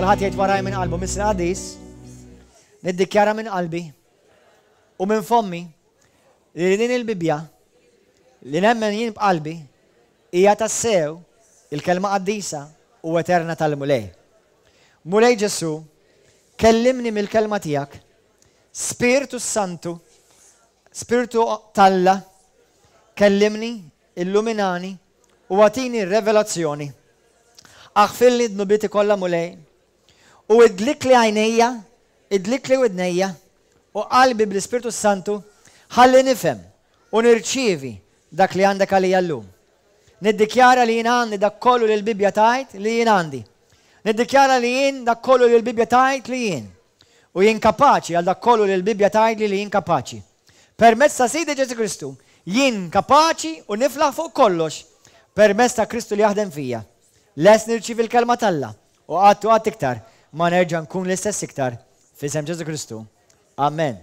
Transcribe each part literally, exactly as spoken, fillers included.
Kulħadd jgħid waraj minn qalbu, Missier Qaddis, niddikjara minn qalbi u minn fommi li din il-Bibbja li nemmen jien b'qalbi hija tassew il-kelma qaddisa u eterna tal-Mulej. Mulej Ġesu, kellimni mill-kelma tiegħek, Spirtu Santu, Spirtu t'Alla, kellimni, illuminani u agħtini revelazzjoni. Aħfirli dnubieti kollha, Mulej, u idlikli għajnejja, idlikli widnejja u qalbi bl-Ispirtu Santu ħalli nifhem u nirċievi dak li għandek għalija llum. Niddikjara li jien għandi dak kollu li l-Bibbja tgħid li jien għandi. Niddikjara li jien dak kollu li l-Bibbja tgħid li jien. U jien kapaċi għal dak kollu li l-Bibbja tgħid li jien kapaċi. Permezz ta' Sidi Ġesù Kristu, jien kapaċi u niflaħ fuq kollox permezz ta' Kristu li jaħdem fija. Lest nirċievi l-kelma t'Alla u qatt u qatt iktar ma nerġa' nkun l-istess iktar f'isem Ġesù Kristu. Amen.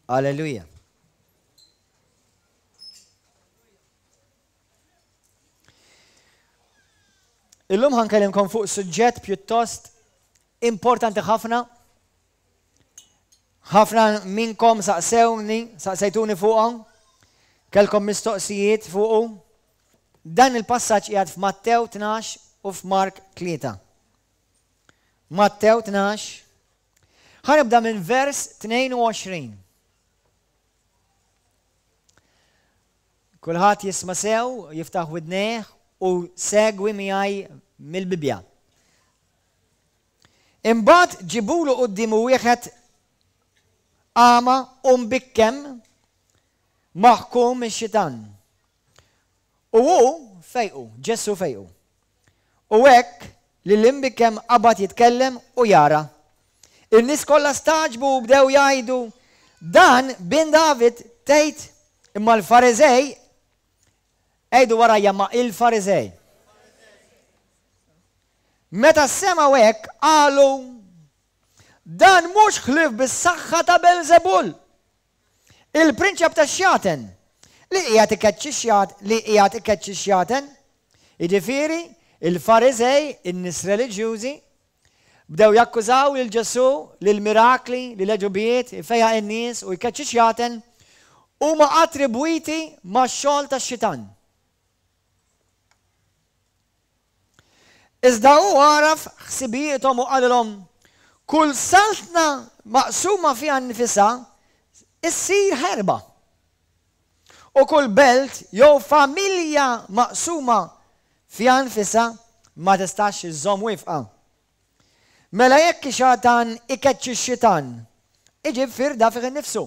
Alleluja. Illum ħa nkellimkom fuq suġġett pjuttost importanti ħafna. Ħafna minnkom saqsewni, saqsejtuni fuqhom, kellkom mistoqsijiet fuqu. Dan il-passaġġ qiegħed f'Mattew tnax u f'Mark tlieta. Mattew tnax. Ħa nibda minn vers tnejn u għoxrin. Kulħadd jisma' sew, jiftaħ widnejh u segwi miegħi mill-Bibbja. Imbagħad ġibulu quddiemu wieħed għama u mbikkem maħkum mix-xitan. U hu fejqu, Ġesù fejqu. U hekk li l-imbikkem qabad jitkellem u jara. In-nies kollha stagħġbu u bdew jgħidu, Dan bin David tgħid? Imma l-Fariżej, għidu warajja ma' il-Fariżej. Meta semgħu hekk qalu, Dan mhux ħlief bis-saħħa ta' Belżebul, il-prinċep tax-xjaten, li qiegħed ikeċċi x-xjat li qiegħed ikeċċi x-xjaten. Jiġifieri, il-Fariżej, in-nies reliġjużi, bdew jakkużaw lil Ġesù li l-mirakli, li l-għeġubijiet, ifejjaq in-nies u jkeċċi x-xjaten huma attribwiti max-xogħol tax-xitan. Iżda hu għaraf ħsibijiethom u qalilhom, Kull saltna maqsuma fiha nnifisha ssir ħerba. U kull belt jew familja maqsuma fiha nfisha ma tistax iżżomm wifqa. Mela jekk ix-xatan ikeċċi x-xitan, iġib firda fih innifsu.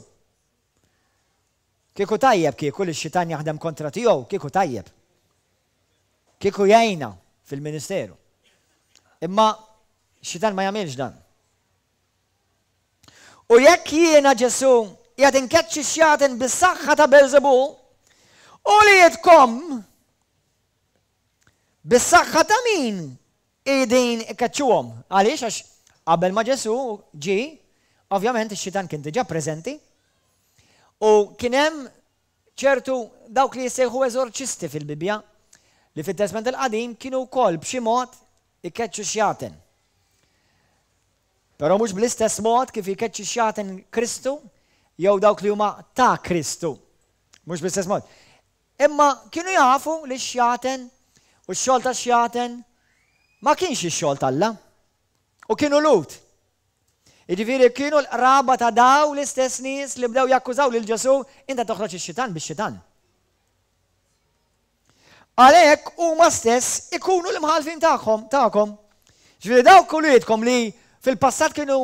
Kieku tajjeb kieku li x-xitan jaħdem kontra tiegħu, kieku tajjeb. Kieku jgħinna fil-ministeru. Imma x-xitan ma jagħmilx dan. U jekk jiena Ġesù qiegħed inkeċċi x-xjaten bis-saħħa ta' Belżebul, uliedkom bis-saħħa ta' min qegħdin ikeċċuhom? Għaliex? Għax qabel ma Ġesù ġie, ovvjament ix-xitan kien diġà preżenti u kien hemm ċertu dawk li jissejħu eżorċisti fil-Bibbja li fit-Testment il-Qadim kienu wkoll b'xi mod ikeċċu xjaten. Però mhux bl-istess mod kif jkeċċi xjaten Kristu jew dawk li huma ta' Kristu. Mhux bl-istess mod. Imma kienu jafu li x-xjaten u x-xogħol tax-xjaten ma kienx ix-xogħol t'Alla. U kienu Lhud. Jiġifieri kienu l-qraba ta' daw l-istess nies li bdew jakkużaw lil Ġesù, inta toħroġ ix-xitan bix-xitan. Għalhekk huma stess ikunu l-imħallfin tagħhom tagħkom. Ġifieri dawk uliedkom li fil-passat kienu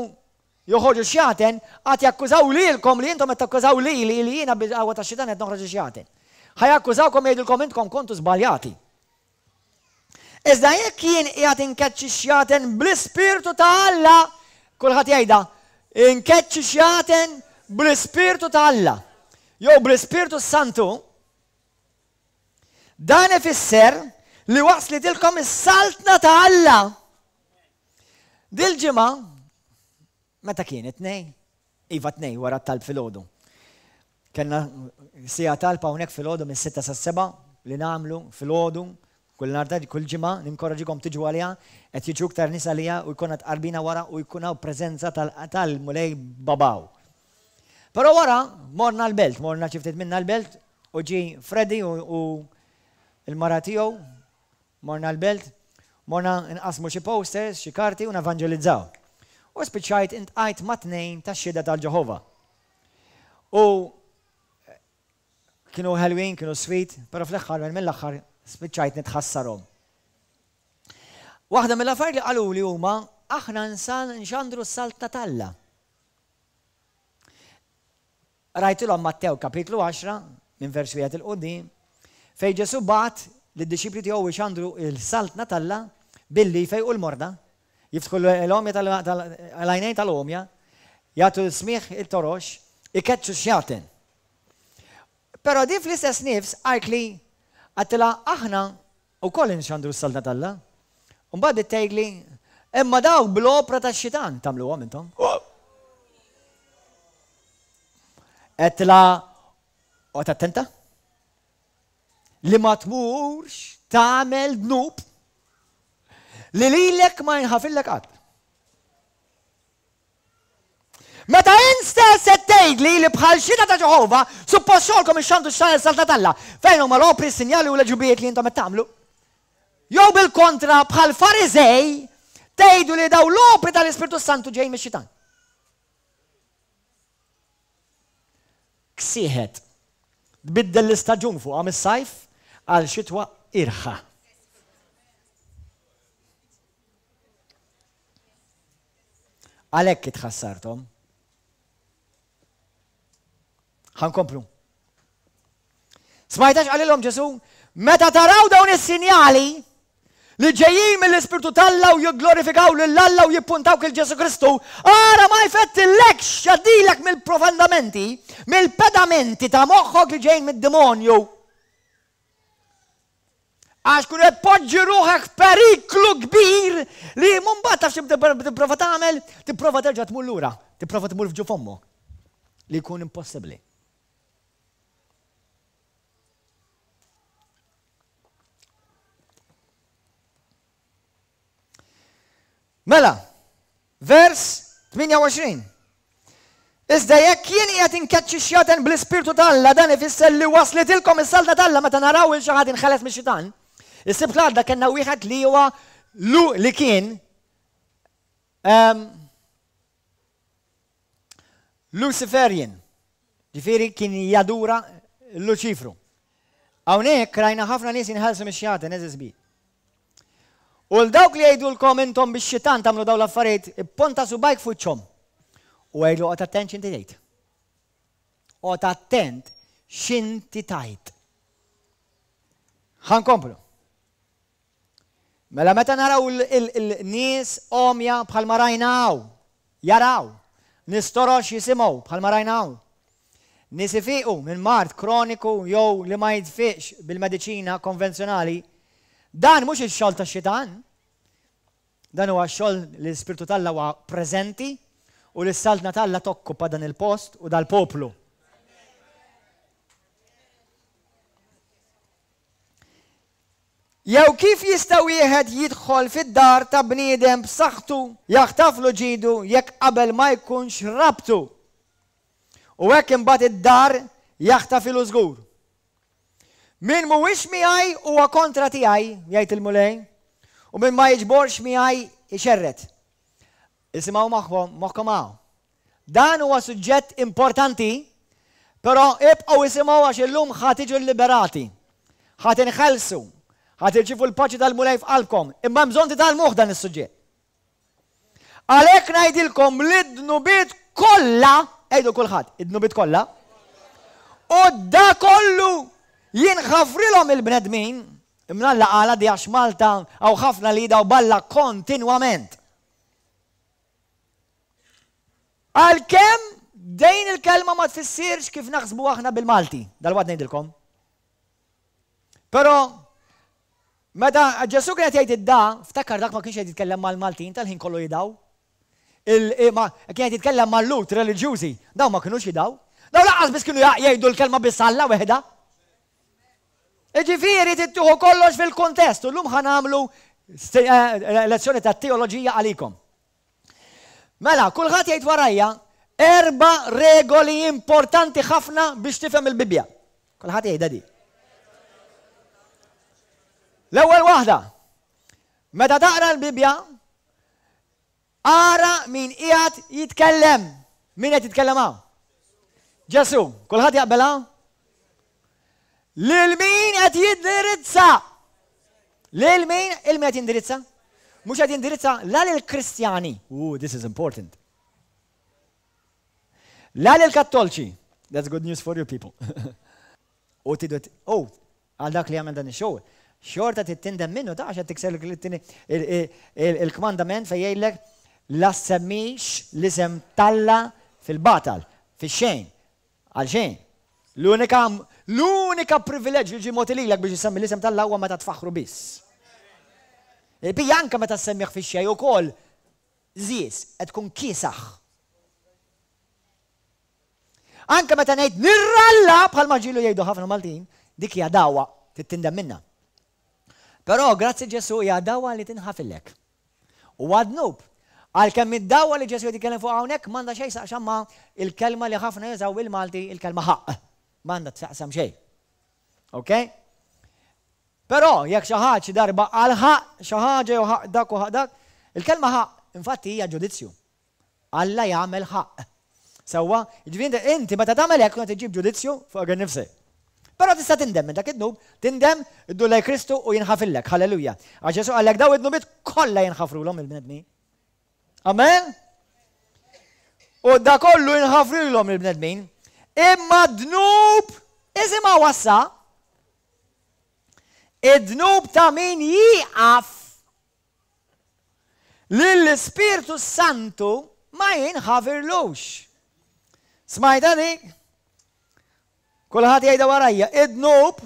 joħorġu xjaten, għad jakkużaw lilkom li intom qed takkużaw lili li jiena bil-qawwa tax-xitan qed noħroġ ix-xjaten. Ħa jakkużawkom jgħidulkom intkom kontu żbaljati. Iżda jekk jien qiegħed inkeċċi x-xjaten bl-Ispirtu ta' Alla, kulħadd jgħidha, inkeċċi xjaten bl-Ispirtu ta' Alla, jew bl-Ispirtu Santu, dan ifisser li waslitilkom is-saltna ta' Alla. Dil-ġimgħa, meta kien it-Tnejn? Iva tnejn wara t-talb filgħodu. Kellna siegħa talb hawnhekk filgħodu mis-sitta sas-sebgħa li nagħmlu filgħodu Kull nhar ta' kull ġimgħa ninkoraġikom tiġu għaliha, qed jiġu iktar nies għaliha u jkollna tqarbina wara u jkun hawn preżenza tal-Mulej babaw. Però wara morna l-belt, morna xi ftit minna l-belt u ġie Freddy u l-mara tiegħu, morna l-belt, morna nqassmu xi posters, xi karti u nevanġelizzaw. U spiċċajt intqajt ma' tnejn tax-Xhieda tal-Ġeħova. U Kienu ħelwin, kienu sweet, però fl-aħħar mill-aħħar spiċċajt nitħassarhom. Waħda mill-affarijiet li qaluli huma aħna nxandru s-saltna t'Alla. Rajtilhom Mattew kapitlu għaxra minn vers wieħed 'il quddiem fejn Ġesù bagħat lid-dixxipli tiegħu jxandru l-saltna t'Alla billi jfejqu l-morda, jiftħu l-għomja tal-għajnejn tal-għomja, jagħtu l-smigħ it-torox, ikeċċu x-xjaten. Però din fl-istess nifs qaltli, għedtilha aħna wkoll inxandru s-Saltna t'Alla. U mbagħad bdiet tgħidli, imma dawk bl-opra tax-xitan tagħmluhom intom. Għedtilha, oqgħod attenta li ma tmurx tagħmel dnub li lilek ma jinħafillek qatt. Meta int stess qed tgħidli li bħal Xhieda ta' Ġeħova, suppost xogħolkom ixxandru s-Saltna t'Alla, fejn huma l-opri, s-sinjali u l-għeġubijiet li intom qed tagħmlu? Jew bil-kontra, bħal Fariżej, tgħidu li dawn l-opri tal-Ispirtu s-Santu ġejjin mix-Xitan? Ksieħet. Tbiddel l-istaġun fuqha mis-sajf għal xitwa irħa. Għalhekk itħassarthom. Ħa nkomplu. Smajtax qalilhom Ġesù, meta taraw dawn is-sinjali li ġejjin mill-Ispirtu t'Alla u jigglorifikaw lil Alla u jippuntaw kil Ġesù Kristu, ara ma jfettillekx jgħaddilek mill-profondamenti, mill-pedamenti ta' moħħok li ġejjin mid-demonju. Għax kun qed poġġi ruħek f'periklu kbir li mbagħad taf xi tipprova tagħmel, tipprova terġa' tmur lura, tipprova tmur f'ġuf ommok li jkun impossibbli. Mela, vers tmienja u għoxrin. Iżda jekk jien qiegħed inkeċċi x-xjaten bl-Ispirtu ta' Alla, dan ifisser li waslitilkom is-saltna t'Alla meta naraw 'il xi ħadd inħeles mix-xitan. Is-Sibt l-għadda kellna wieħed li huwa lu li kien um, Luciferian, ġifieri kien jadura Luċifru. Hawnhekk rajna ħafna nies jinħelsu mix-xjaten, eżiż bi. U 'l dawk li jgħidulkom intom bix-xitan tagħmlu dawn l-affarijiet, ipponta subgħajk f'wiċċhom u għidlu oqgħod attent x'inti tgħid. Oqgħod attent x'inti tgħid. Ħa nkomplu. Mela meta naraw il-nies għomja bħalma rajna hawn, jaraw, nies torox jisimgħu bħalma rajna hawn, nies ifiqu minn mard kroniku jew li ma jitfiqx bil-mediċina konvenzjonali, Dan mhux ix-xogħol tax-xitan. Dan huwa x-xogħol li l-Ispirtu t'Alla huwa preżenti u li s-Saltna t'Alla tokkupa dan il-post u dal-poplu. Jew kif jista' wieħed jidħol fid-dar ta' bniedem b'saħħtu jaħtaflu ġidu jekk qabel ma jkunx rabtu? U hekk imbagħad id-dar jaħtafilu żgur. Min mhuwiex miegħi huwa kontra tiegħi, jgħid il-Mulej, u min ma jiġborx miegħi jxerred. Isimgħu moħħkom, moħħkom hawn. Dan huwa suġġett importanti, però ibqgħu isimgħu għax illum ħa tiġu lliberati. Ħa tinħelsu, ħa tirċievu l-paċi tal-Mulej f'qalbkom, imma hemm bżonn titgħallmuh dan is-suġġett. Għalhekk ngħidilkom li d-dnubiet kollha, għidu kulħadd, id-dnubiet kollha, u da kollu jinħafrilhom il-bnedmin, imnalla qala di għax Malta hawn ħafna li jidgħu b'Alla kontinwament. Għalkemm dejn il-kelma ma tfissirx kif naħsbu aħna bil-Malti, dalwaqt ngħidilkom. Però meta Ġesù kien qed jgħid id-da, ftakar dak ma kienx qed jitkellem mal-Maltin tal-ħin kollu jidgħu. Il, ma, kien qed jitkellem mal-Lhud reliġjużi, dawn ma kinux jidgħu. Dawn lanqas biss kienu jgħidu l-kelma biss Alla weħda. Ġifieri tittuħu kollox fil-kontest, u llum ħa nagħmlu lezzjoni ta' teoloġija għalikom. Mela, kulħadd jgħid warajja erba' regoli importanti ħafna biex tifhem il-Bibbja. Kulħadd jgħidha di. L-ewwel waħda, meta taqra l-Bibbja, ara min qiegħed jitkellem. Min qed jitkellem hawn? Ġesu, kulħadd jaqbel hawn? Lil min qed jindirizza? Lil min il min qed jindirizza? Mhux qed jindirizza la lil Kristjani. Ooh, this is important. La lil Kattolċi. That's good news for you people. U tidu, oh, għal dak li għamel dan ix-xogħol. Xorta tindem minnu ta' għax tikser il-kmandament fejn jgħidlek la semmix l-isem t'Alla fil-batal, fix-xejn, għal xejn. L-unika l-unika privileġġ li ġie mogħti lilek biex isemmi l-isem t'Alla huwa meta tfaħħru biss. Il-bija anke meta semmih fix-xejn ukoll żies qed tkun kiesaħ. Anke meta ngħid nirralla bħalma ġilu jgħidu ħafna Maltin, dik hija dagħwa tindem minna. Però grazzi Ġesu hija dagħwa li tinħafillek. U għad-dnub, għalkemm id-dagħwa li Ġesu jitkellem fuq hawnhekk m'għandha xejn x'taqsam ma' il-kelma li ħafna jużaw il-Malti, il-kelma ħaqq. M'għandha taqsam xejn. Ok? Però jekk xi ħadd xi darba għal ħaqq xi ħaġa jew ħaqq dak u ħaqq dak, il-kelma ħaqq infatti hija ġudizzju. Alla jagħmel ħaqq. Sewwa, jiġifieri inti meta tagħmel hekk qed iġib ġudizzju fuq innifsek. Però tista' tindem minn dak id-dnub, tindem, iddur lejn Kristu u jinħafillek. Halleluja. Għax Ġesu qallek daw id-dnubiet kollha jinħafrulhom il-bnedmin. Amen? U da kollu jinħafrulhom il-bnedmin. Imma dnub, isimgħu wassa, id-dnub ta' min jieqaf lill-Ispirtu Santu ma jinħafirlux. Smajta dik? Kulħadd jgħidha warajja, id-dnub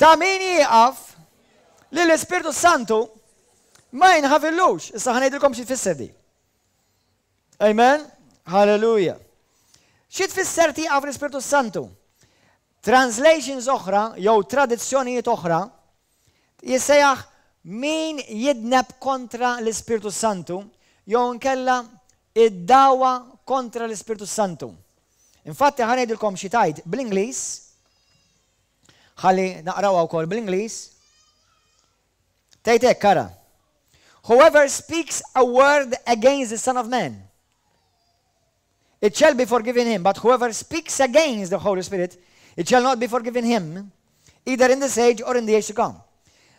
ta' min jieqaf lill-Ispirtu Santu ma jinħafirlux. Issa ħa ngħidilkom xi tfisser di. Amen? Hallelujah. Xi tfisser tieqaf l-Ispirtu Santu? Translations oħra jew tradizzjonijiet oħra jissejjaħ min jidneb kontra l-Ispirtu Santu jew nkella id-dagħwa kontra l-Ispirtu Santu. Infatti ħa ngħidilkom xi tgħid bl-Ingliż, ħalli naqrawha wkoll bl-Ingliż. Tgħid hekk ara. Whoever speaks a word against the Son of Man, it shall be forgiven him, but whoever speaks against the Holy Spirit, it shall not be forgiven him, either in this age or in the age to come.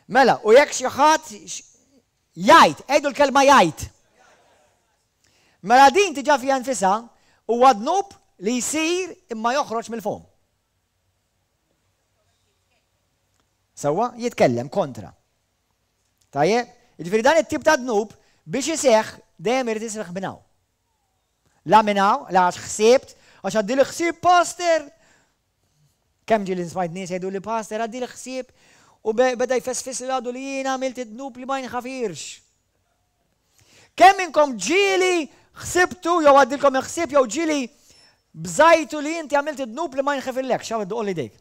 Mela, u jekk xi ħadd jgħid, għidu l-kelma jgħid. Mela din tiġa fiha nfisha huwa dnub li jsir imma joħroġ mill-fom. Sewwa jitkellem kontra. Tajjeb, jiġifieri dan it-tip ta' dnub biex iseħħ dejjem irid iseħħ minn hawn. La minn hawn, la għax ħsibt, għax għaddi l-ħsieb pastor. Kemm ġieli smajt nies jgħidu li pastor għaddi l-ħsieb u beda jfesfis li għadu li jiena għamilt id-dnub li ma jinħafirx. Kemm minnkom ġieli ħsibtu jew għaddilkom il-ħsieb jew ġieli bżajtu li inti għamilt id-dnub li ma jinħafirlek, xaw id idejk.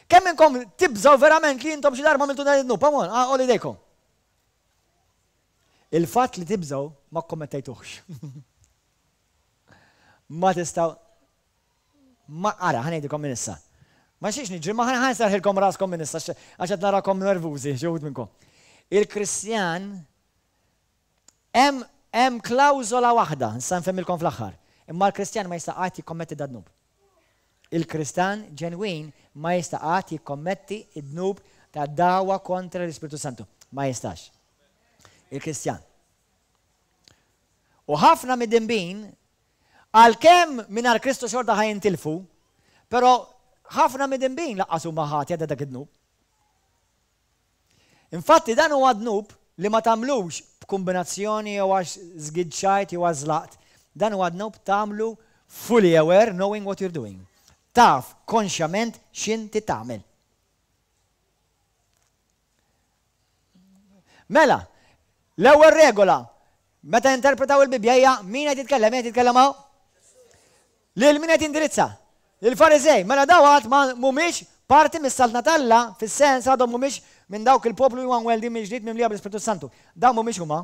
Kemm minnkom tibżaw verament li intom xi darba għamiltu dan id-dnub, come on, għolli idejkom. Il-fatt li tibżaw ma kommettejtuhx. Ma tistaw ma ara, ħa ngħidilkom minn issa. Ma xiex niġri, ma ħa nsarħilkom raskom minn issa, għax qed narakom nervużi, xi wħud minnkom. Il-Kristjan hemm hemm klawżola waħda, nista' nfehmilkom fl-aħħar. Imma l-Kristjan ma jista' qatt jikkommetti dad-dnub. Il-Kristjan ġenwin ma jista' qatt jikkommetti id-dnub ta' dagħwa kontra l-Ispirtu Santu. Ma jistax. Il-Kristjan. U ħafna mid-dinbin, għalkemm mingħajr Kristu xorta ħa jintilfu, però ħafna mid-dinbin lanqas huma ħatja ta' dak id-dnub. Infatti dan huwa dnub li ma tagħmlux b'kombinazzjoni jew għax żgiġġajt jew għax żlaqt. Dan huwa dnub tagħmlu fully aware, knowing what you're doing. Taf konxjament x'inti tagħmel. Mela, l-ewwel regola meta interpretaw il-Bibbja hija min qed jitkellem, min qed jitkellem hawn? Lil min qed jindirizza? Lil Fariżej. Mela daw għad ma mhumiex Parti mis-saltna t'Alla fis-sens għadhom mhumiex minn dawk il-poplu li huma mweldin mill-ġdid mimlija bl-Ispirtu Santu. Dawn mhumiex huma.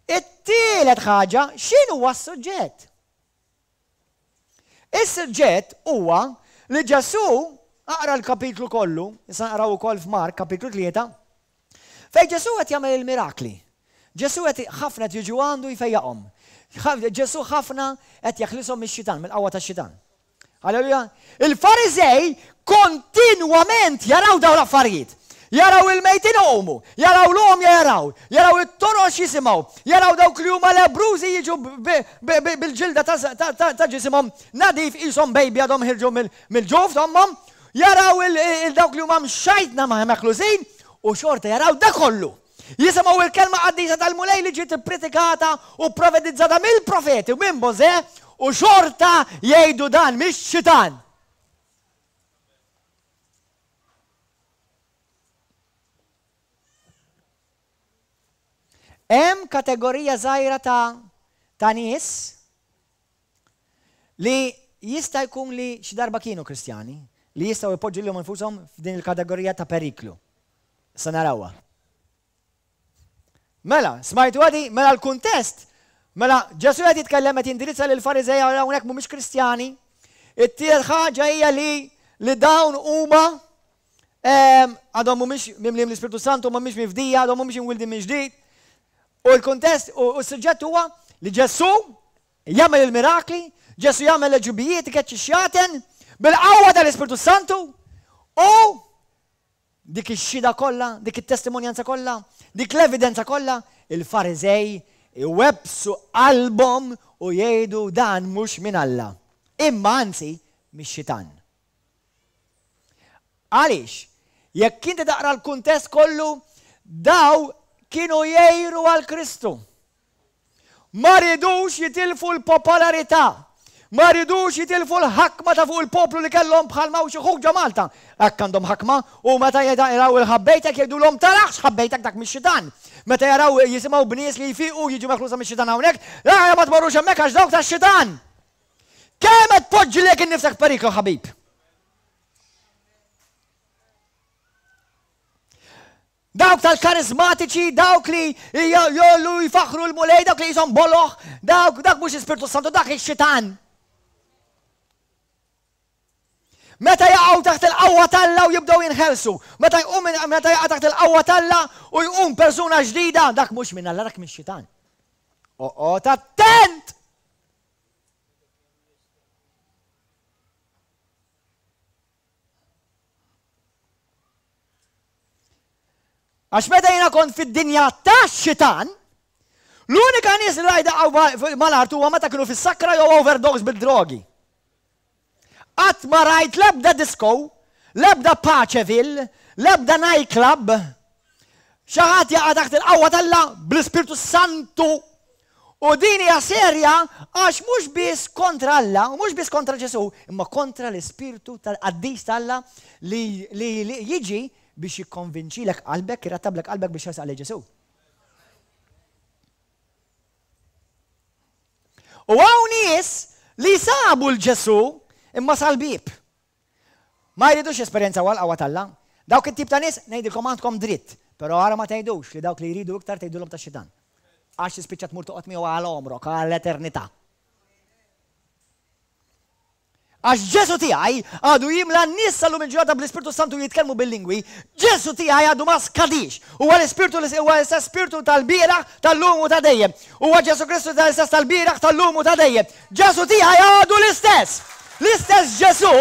It-tielet ħaġa, x'inhuwa s-suġġett? Is-suġġett huwa li Ġesù, aqra l-kapitlu kollu, issa naqraw ukoll f'Mark kapitlu tlieta, fejn Ġesù qed jagħmel il-mirakli. Ġesù qed ħafna qed jiġu għandu jfejjaqhom. Ġesù ħafna qed jeħlishom mix-xitan, mill-qawwa tax-xitan. Halleluja. Il-Fariżej kontinwament jaraw dawn l-affarijiet. Jaraw il-mejtin iqumu, jaraw l-għomja jaraw, jaraw it-torox jisimgħu, jaraw dawk li huma lebbrużi jiġu bil-ġilda ta' ġisimhom nadif qishom baby għadhom ħirġu mill-ġuf t'ommhom, jaraw il-dawk li huma mxajtna ma' meħlusin u xorta jaraw da kollu. Jisimgħu il-kelma qaddisa tal-Mulej li ġiet ippritikata u profetizzata mill-profeti u minn Mosè u xorta jgħidu dan mix-xitan. Hemm kategorija żgħira ta' ta' nies li jista' jkun li xi darba kienu Kristjani li jistgħu jpoġġu lilhom infushom f'din il-kategorija ta' periklu. Issa narawha. Mela, smajtu għadi, mela l-kuntest, mela Ġesù qed jitkellem qed jindirizza lil Fariżej hawnhekk mhumiex Kristjani. It-tielet ħaġa hija li li dawn huma għadhom mhumiex mimlijin l-Ispirtu Santu, mhumiex mifdija, għadhom mhumiex imwildin minn ġdid. U l-kuntest u s-suġġett huwa li Ġesù jagħmel il-mirakli, Ġesù jagħmel l-għeġubijiet, ikeċċi x-xjaten bil-qawwa tal-Ispirtu Santu u dik ix-xhieda kollha, dik it-testimonjanza kollha, dik l-evidenza kollha, il-Fariżej iwebbsu qalbhom u jgħidu dan mhux minn Alla, imma anzi mix-xitan. Għaliex? Jekk inti taqra l-kuntest kollu, daw kienu jgħiru għal Kristu. Ma ridux jitilfu l-popolarità. Ma ridux jitilfu l-ħakma ta' fuq il-poplu li kellhom bħal ma xi ħuġa Malta. Hekk għandhom ħakma u meta jaraw il-ħabbejtek jgħidulhom tarax ħabbejtek dak mix-xitan. Meta jaraw jisimgħu bnies li jfiqu jiġu meħlusa mix-xitan hawnhekk, la ma tmorrux hemmhekk għax dawk tax-xitan. Kemm qed tpoġġi lilek innifsek f'periklu ħabib? Dawk tal-karizmatiċi, dawk li jollu jfaħħru l-Mulej, dawk li jisom boloh, dawk dak mhux Ispirtu Santu, dak ix-xitan. Meta jaqgħu taħt il-qawwa t'Alla u jibdew jinħelsu, meta jqum meta jaqa' taħt il-qawwa t'Alla u jqum persuna ġdida, dak mhux minn Alla, dak mix-xitan. Oqgħod attent! Għax meta jiena kont fid-dinja tax-xitan, l-unika nies li rajt daqgħu mal-art huwa meta kienu fis-sakra jew overdose bid-drogi. Qatt ma rajt l-ebda disco, l-ebda Paceville, l-ebda nightclub, xi ħadd jaqa' taħt il-qawwa t'Alla bl-Ispirtu Santu. U din hija serja għax mhux biss kontra Alla, u mhux biss kontra Ġesù, imma kontra l-Ispirtu tal-Qaddis t'Alla li, li, li jiġi biex jikkonvinċilek qalbek, jrattablek qalbek biex jersaq lejn Ġesù. U hawn nies li sabu l-Ġesù imma sal-bieb. Ma jridux jesperjenzaw għal-qawwa t'Alla. Dawk it-tip ta' nies ngħidilkom għandkom dritt, però ara ma tgħidux li dawk li jridu iktar tgħidulhom tax-xitan. Għax tispiċċa tmur toqgħod miegħu għal għomrok, għall-eternità. Għax Ġesù tiegħi għadu jimla n-nies sal-lum il-ġurnata bl-Ispirtu Santu jitkellmu bil-lingwi, Ġesù tiegħi għadu ma skadix. Huwa l-Ispirtu huwa l-istess Spirtu tal-bieraħ, tal-lum u ta' dejjem. Huwa Ġesù Kristu tal-istess tal-bieraħ, tal-lum u ta' dejjem. Ġesù tiegħi għadu l-istess. L-istess Ġesù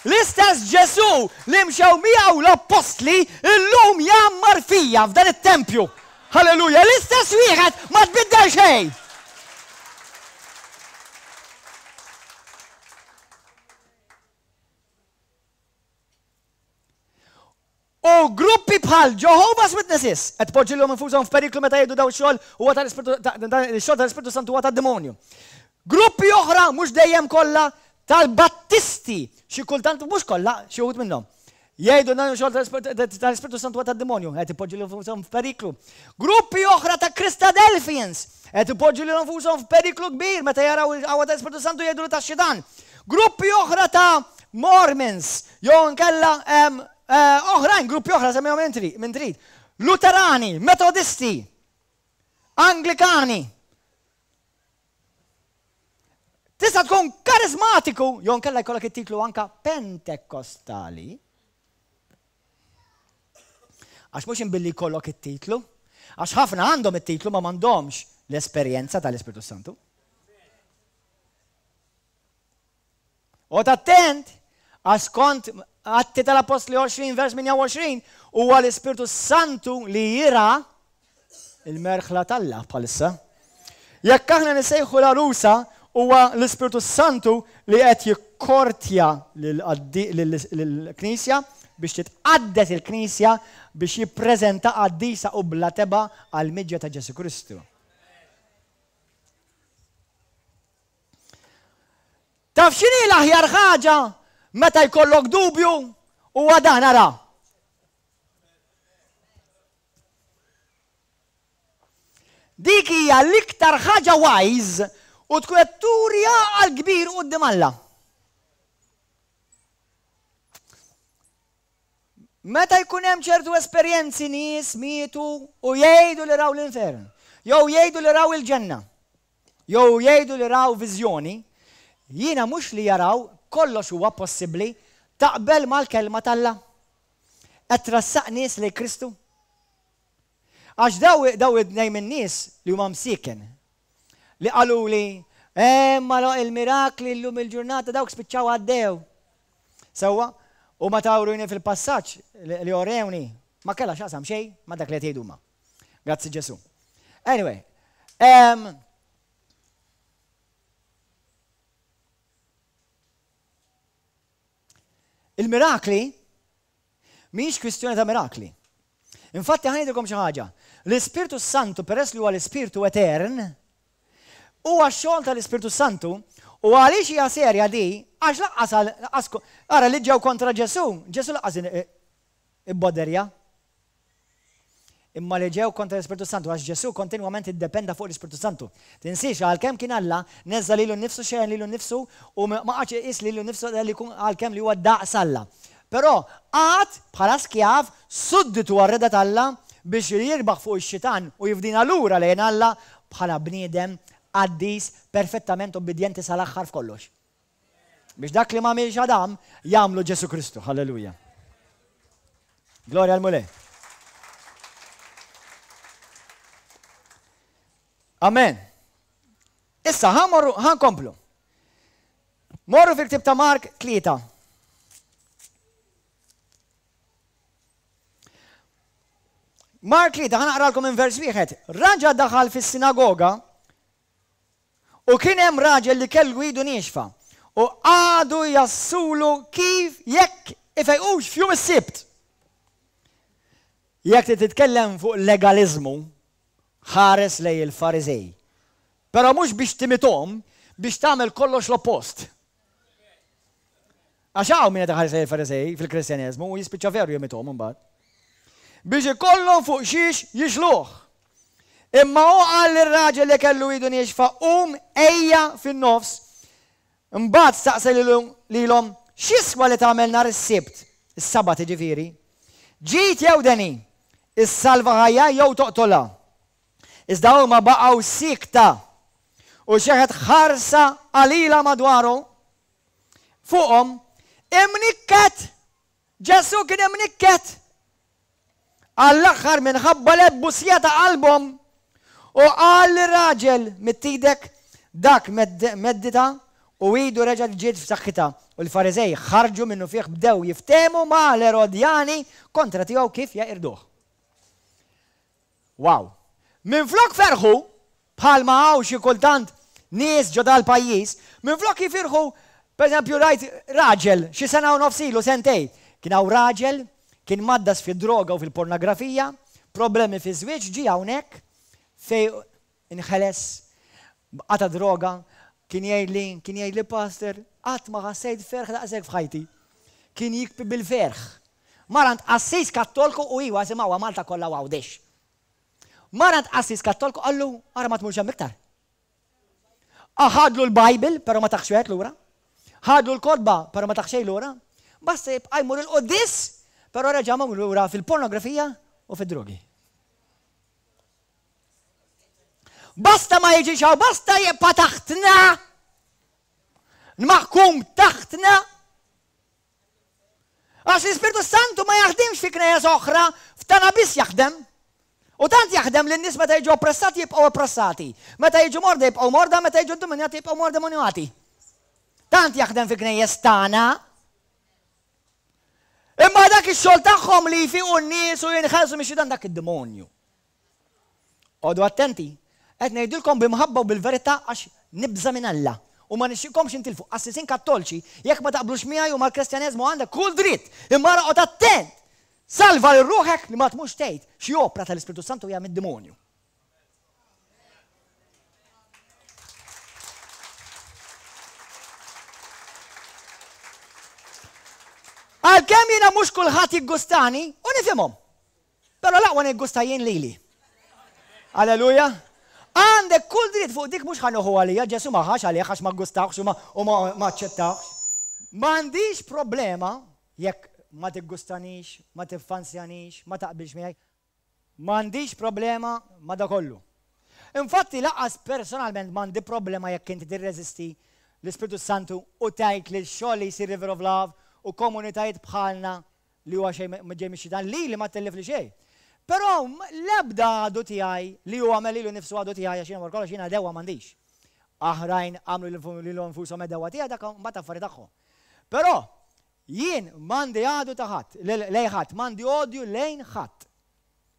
L-istess Ġesù li mxew miegħu l-appostli illum jgħammar fija f'dan it-tempju. Halleluja, l-istess wieħed ma tbiddel xejn. U gruppi bħal Jehovah's Witnesses qed poġġilhom infushom f'periklu meta jgħidu daw xogħol huwa tal-Ispirtu xogħol tal-Ispirtu Santu huwa tad-demonju. Gruppi oħra mhux dejjem kollha tal-Battisti, xi kultant mhux kollha, xi wħud minnhom. Jgħidu dan xogħol tal-Ispirtu Santu huwa tad-demonju, qed ipoġġu lilhom infushom f'periklu. Gruppi oħra ta' Christadelphians qed ipoġġu lilhom infushom f'periklu kbir meta jaraw il-qawwa tal-Ispirtu Santu jgħidu li tax-xitan. Gruppi oħra ta' Mormons, jew nkella eh, oħrajn, gruppi oħra semmihom minn trid. Luterani, Metodisti, Anglikani. Tista' tkun karizmatiku, jew nkella jkollok it-titlu anka Pentekostali. Għax mhux imbilli jkollok it-titlu, għax ħafna għandhom it-titlu ma m'għandhomx l-esperjenza tal-Ispirtu Santu. Oqgħod attent, għax skont Atti tal-Appostli għoxrin vers tmienja u għoxrin huwa l-Ispirtu Santu li jira il-merħla t'Alla bħalissa. Jekk aħna nisejħu l-għarusa, huwa l-Ispirtu Santu li qed jikkortja lill-Knisja biex titqaddes il-Knisja biex jippreżenta qaddisa u bla tebgħa għall-miġja ta' Ġesù Kristu. Taf x'inhi l-aħjar ħaġa meta jkollok dubju? Huwa dan, ara. Dik hija l-iktar ħaġa wise u tkun qed turi għaqal kbir quddiem Alla. Meta jkun hemm ċertu esperjenzi nies mietu u jgħidu li raw l-infern, jew jgħidu li raw il-ġenna, jew jgħidu li raw viżjoni, jiena mhux li jaraw kollox huwa possibbli, taqbel mal-kelma t'Alla? Qed trassaq nies lejn Kristu? Għax daw daw it-tnejn min-nies li huma msieken li qaluli, eh, ma il-mirakli llum il-ġurnata dawk spiċċaw għaddew. Sewwa, u ma tawruni fil-passaġġ li orewni ma kellha x'aqsam xejn ma' dak li qed jgħidu huma. Grazzi Ġesù. Anyway, um, il-mirakli mhix kwistjoni ta' mirakli. Infatti ħa ngħidilkom xi ħaġa. L-Ispirtu Santu peress li huwa l-Ispirtu etern, huwa x-xogħol tal-Ispirtu Santu u għaliex hija serja di, għax laqqas għal ara li ġew kontra Ġesù, Ġesù laqqas ibboderja. Imma li ġew kontra l-Ispirtu Santu, għax Ġesù kontinwament iddependa fuq l-Ispirtu Santu. Tinsiex, għalkemm kien Alla, neżża' lilu nnifsu, xejjen lilu nnifsu u ma qagħadx iqis lilu nnifsu li jkun għalkemm li huwa daqs Alla. Però qagħad bħala skjav, sudditu għar-rieda t'Alla biex jirbaħ fuq ix-xitan u jifdina lura lejn Alla bħala bniedem qaddis, perfettament ubbidjenti sal-aħħar f'kollox. Biex dak li m'għamilx Adam, jagħmlu Ġesù Kristu. Halleluja. Glorja l-Mulej. Amen. Issa, ħa nkomplu. Morru fil-ktib ta' Mark tlieta. Mark tlieta, ħa naqralkom minn vers wieħed. Raġa daħal fis-sinagoga u kien hemm raġel li kellu idu niexfa u qagħdu jassulu kif jekk ifejqux f'jum is-Sibt. Jekk trid titkellem fuq legaliżmu, ħares lejn il-Fariżej. Però mhux biex timithom, biex tagħmel kollox l-oppost. Għax hawn min qed iħares lejn il-Fariżej fil-Kristjaneżmu u jispiċċa veru jimithom imbagħad. Biex ikollhom fuq xiex jixluh. Imma hu qal lir-raġel li kellu idu niexfa, Qum, ejja fin-nofs. Imbagħad staqsa lilhom, X'jiswa li tagħmel nhar is-Sibt, is-Sabat jiġifieri? Ġid jew deni? Issalva ħajja jew toqtolha? Iżda huma baqgħu siekta, u xeħet ħarsa qalila madwaru fuqhom, imnikket! Ġesù kien imnikket għall-aħħar minħabba l-ebbusija ta' qalbhom u qal lir-raġel, Midd idek. Dak medditha u idu reġgħet ġiet f'saħħitha. U l-Fariżej ħarġu minnufih bdew jiftehmu ma' l-Erodjani kontra tiegħu kif jeqirduh. Wow! Minflok ferħu, bħalma hawn xi kultant nies ġo dal-pajjiż, minflok jifirħu, pereżempju rajt raġel xi sena u nofs ilu, sentej, kien hawn raġel, kien mgħaddas fid-droga u fil-pornografija, problemi fiż-żwieġ, ġie hawnhekk fejn inħeles, qata' droga, kien jgħidli, kien jgħidli Pastor, qatt ma ħassejt ferħ daqshekk f'ħajti. Kien jikbi bil-ferħ. Mar għand qassis Kattolku u iwa simgħuha Malta kollha u Għawdex. Mar għand qassis Kattolku qallu ara ma tmurx hemm iktar. Aħadlu l-Bible, però ma taħx wieħed lura. Ħadu l-kotba, però ma tah xejn lura. Basta jibqa' jmur il-quddies, però reġa' mar lura fil-pornografija u fid-drogi. Basta ma jiġix hawn, basta jibqa' taħtna. Maħkum taħtna. Għax l-Ispirtu Santu ma jaħdimx fi knejjes oħra, f'tana biss jaħdem. U tant jaħdem li n-nies meta jiġu oppressati jibqgħu oppressati. Meta jiġu morda jibqgħu morda, meta jiġu demonjati jibqgħu more demonjati. Tant jaħdem fi knejjes tagħna. Imma dak ix-xogħol tagħhom li jfiqu n-nies u jinħelsu mix-xitan dak id-demonju. Oqogħdu attenti, qed ngħidilkom b'imħabba u bil-verità għax nibża' minn Alla u ma nixtieqkomx intilfu. Qassisin Kattolċi, jekk ma taqblux miegħi u mal-Kristjaneżmu għandek kull dritt, imma ara oqgħod attent! Salva lil ruħek li ma tmurx tgħid xi opra tal-Ispirtu Santu hija mid-demonju. Għalkemm jiena mhux kulħadd jiggustani u nifhimhom. Però l-aqwa niggusta jien lili. Alleluja. Għandek kull dritt fuq dik mhux ħa nieħu għalija, Ġesù ma ħax għalih għax ma ggustawhx u ma aċċettawhx. M'għandix problema jekk ma tiggustanix, ma tiffansjanix, ma taqbilx miegħi. M'għandix problema ma' da kollu. Infatti lanqas personalment m'għandi problema jekk inti tirreżisti l-Ispirtu Santu u tgħid li x-xogħol li jsir River of Love u komunitajiet bħalna li huwa xejn ġej mix-xitan, lili ma tellifli xejn. Però l-ebda għadu tiegħi li hu għamel lilu nnifsu għadu tiegħi għax jiena wara kollox jiena għedewwa m'għandix. Aħrajn għamlu lilhom infushom għedewwa tiegħi dak mbagħad affari tagħhom. Però jien m'għandi għadu ta' ħadd, lejn ħadd, m'għandi odju lejn ħadd.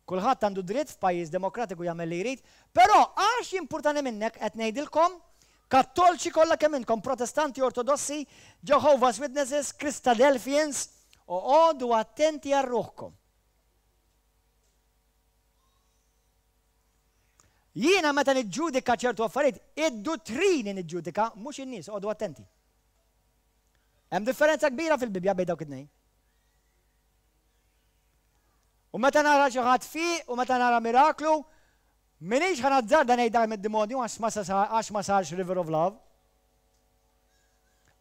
Kulħadd għandu dritt f'pajjiż demokratiku jagħmel li jrid, però għax jimpurtani minnek qed ngħidilkom, Kattolċi kollha kemm intkom, Protestanti, Ortodossi, Jehovah's Witnesses, Christadelphians, oqogħdu attenti għal ruħkom. Jiena meta niġġudika ċertu affarijiet, id-duttrini niġġudika, mhux in-nies, oqogħdu attenti. Hemm differenza kbira fil-Bibbja bejn dawk it-tnejn. U meta nara xi ħadd fiq u meta nara miraklu, m'iniex ħa nazzarda ngħid dak mid-demonju għax ma sarx River of Love.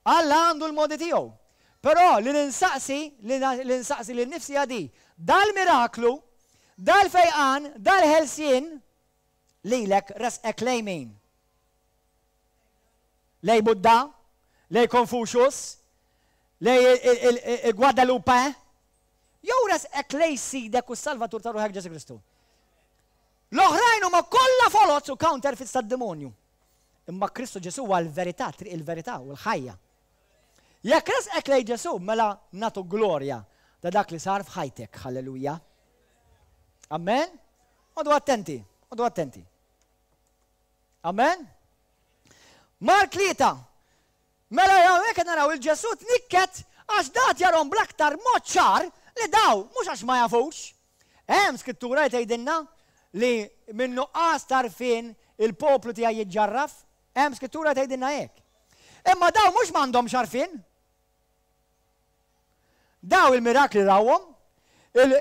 Alla għandu l-modi tiegħu. Però li ninsaqsi, li nsaqsi lil nifsi hija di, dal-miraklu, dal-fejqan, dal-ħelsien, lilek resqek lejn min? Lej Buddha, lej Confucius, lej il-Guadalupe, jew resqek lej Sidek u s-Salvatur ta' ruħek Ġesù Kristu. L-oħrajn huma kollha foloz u counterfeits tad-demonju. Imma Kristu Ġesù huwa l-verità, triq il-verità u l-ħajja. Jekk resqek lej Ġesù, mela nagħtu glorja ta' dak li sar f'ħajtek. Halleluja. Amen. Oqogħdu attenti, oqogħdu attenti. Amen. Mark tlieta. Mela hawnhekk qed naraw il-Ġesù tnikket għax dat jarhom bl-aktar mod ċar li daw mhux għax ma jafux. Hemm skrittura li tgħidilna li minn nuqqas t'għarfien il-poplu tiegħi jiġġarraf. Hemm skrittura li tgħidilna hekk. Imma daw mhux m'għandhomx għarfien. Daw il-mirakli rawhom,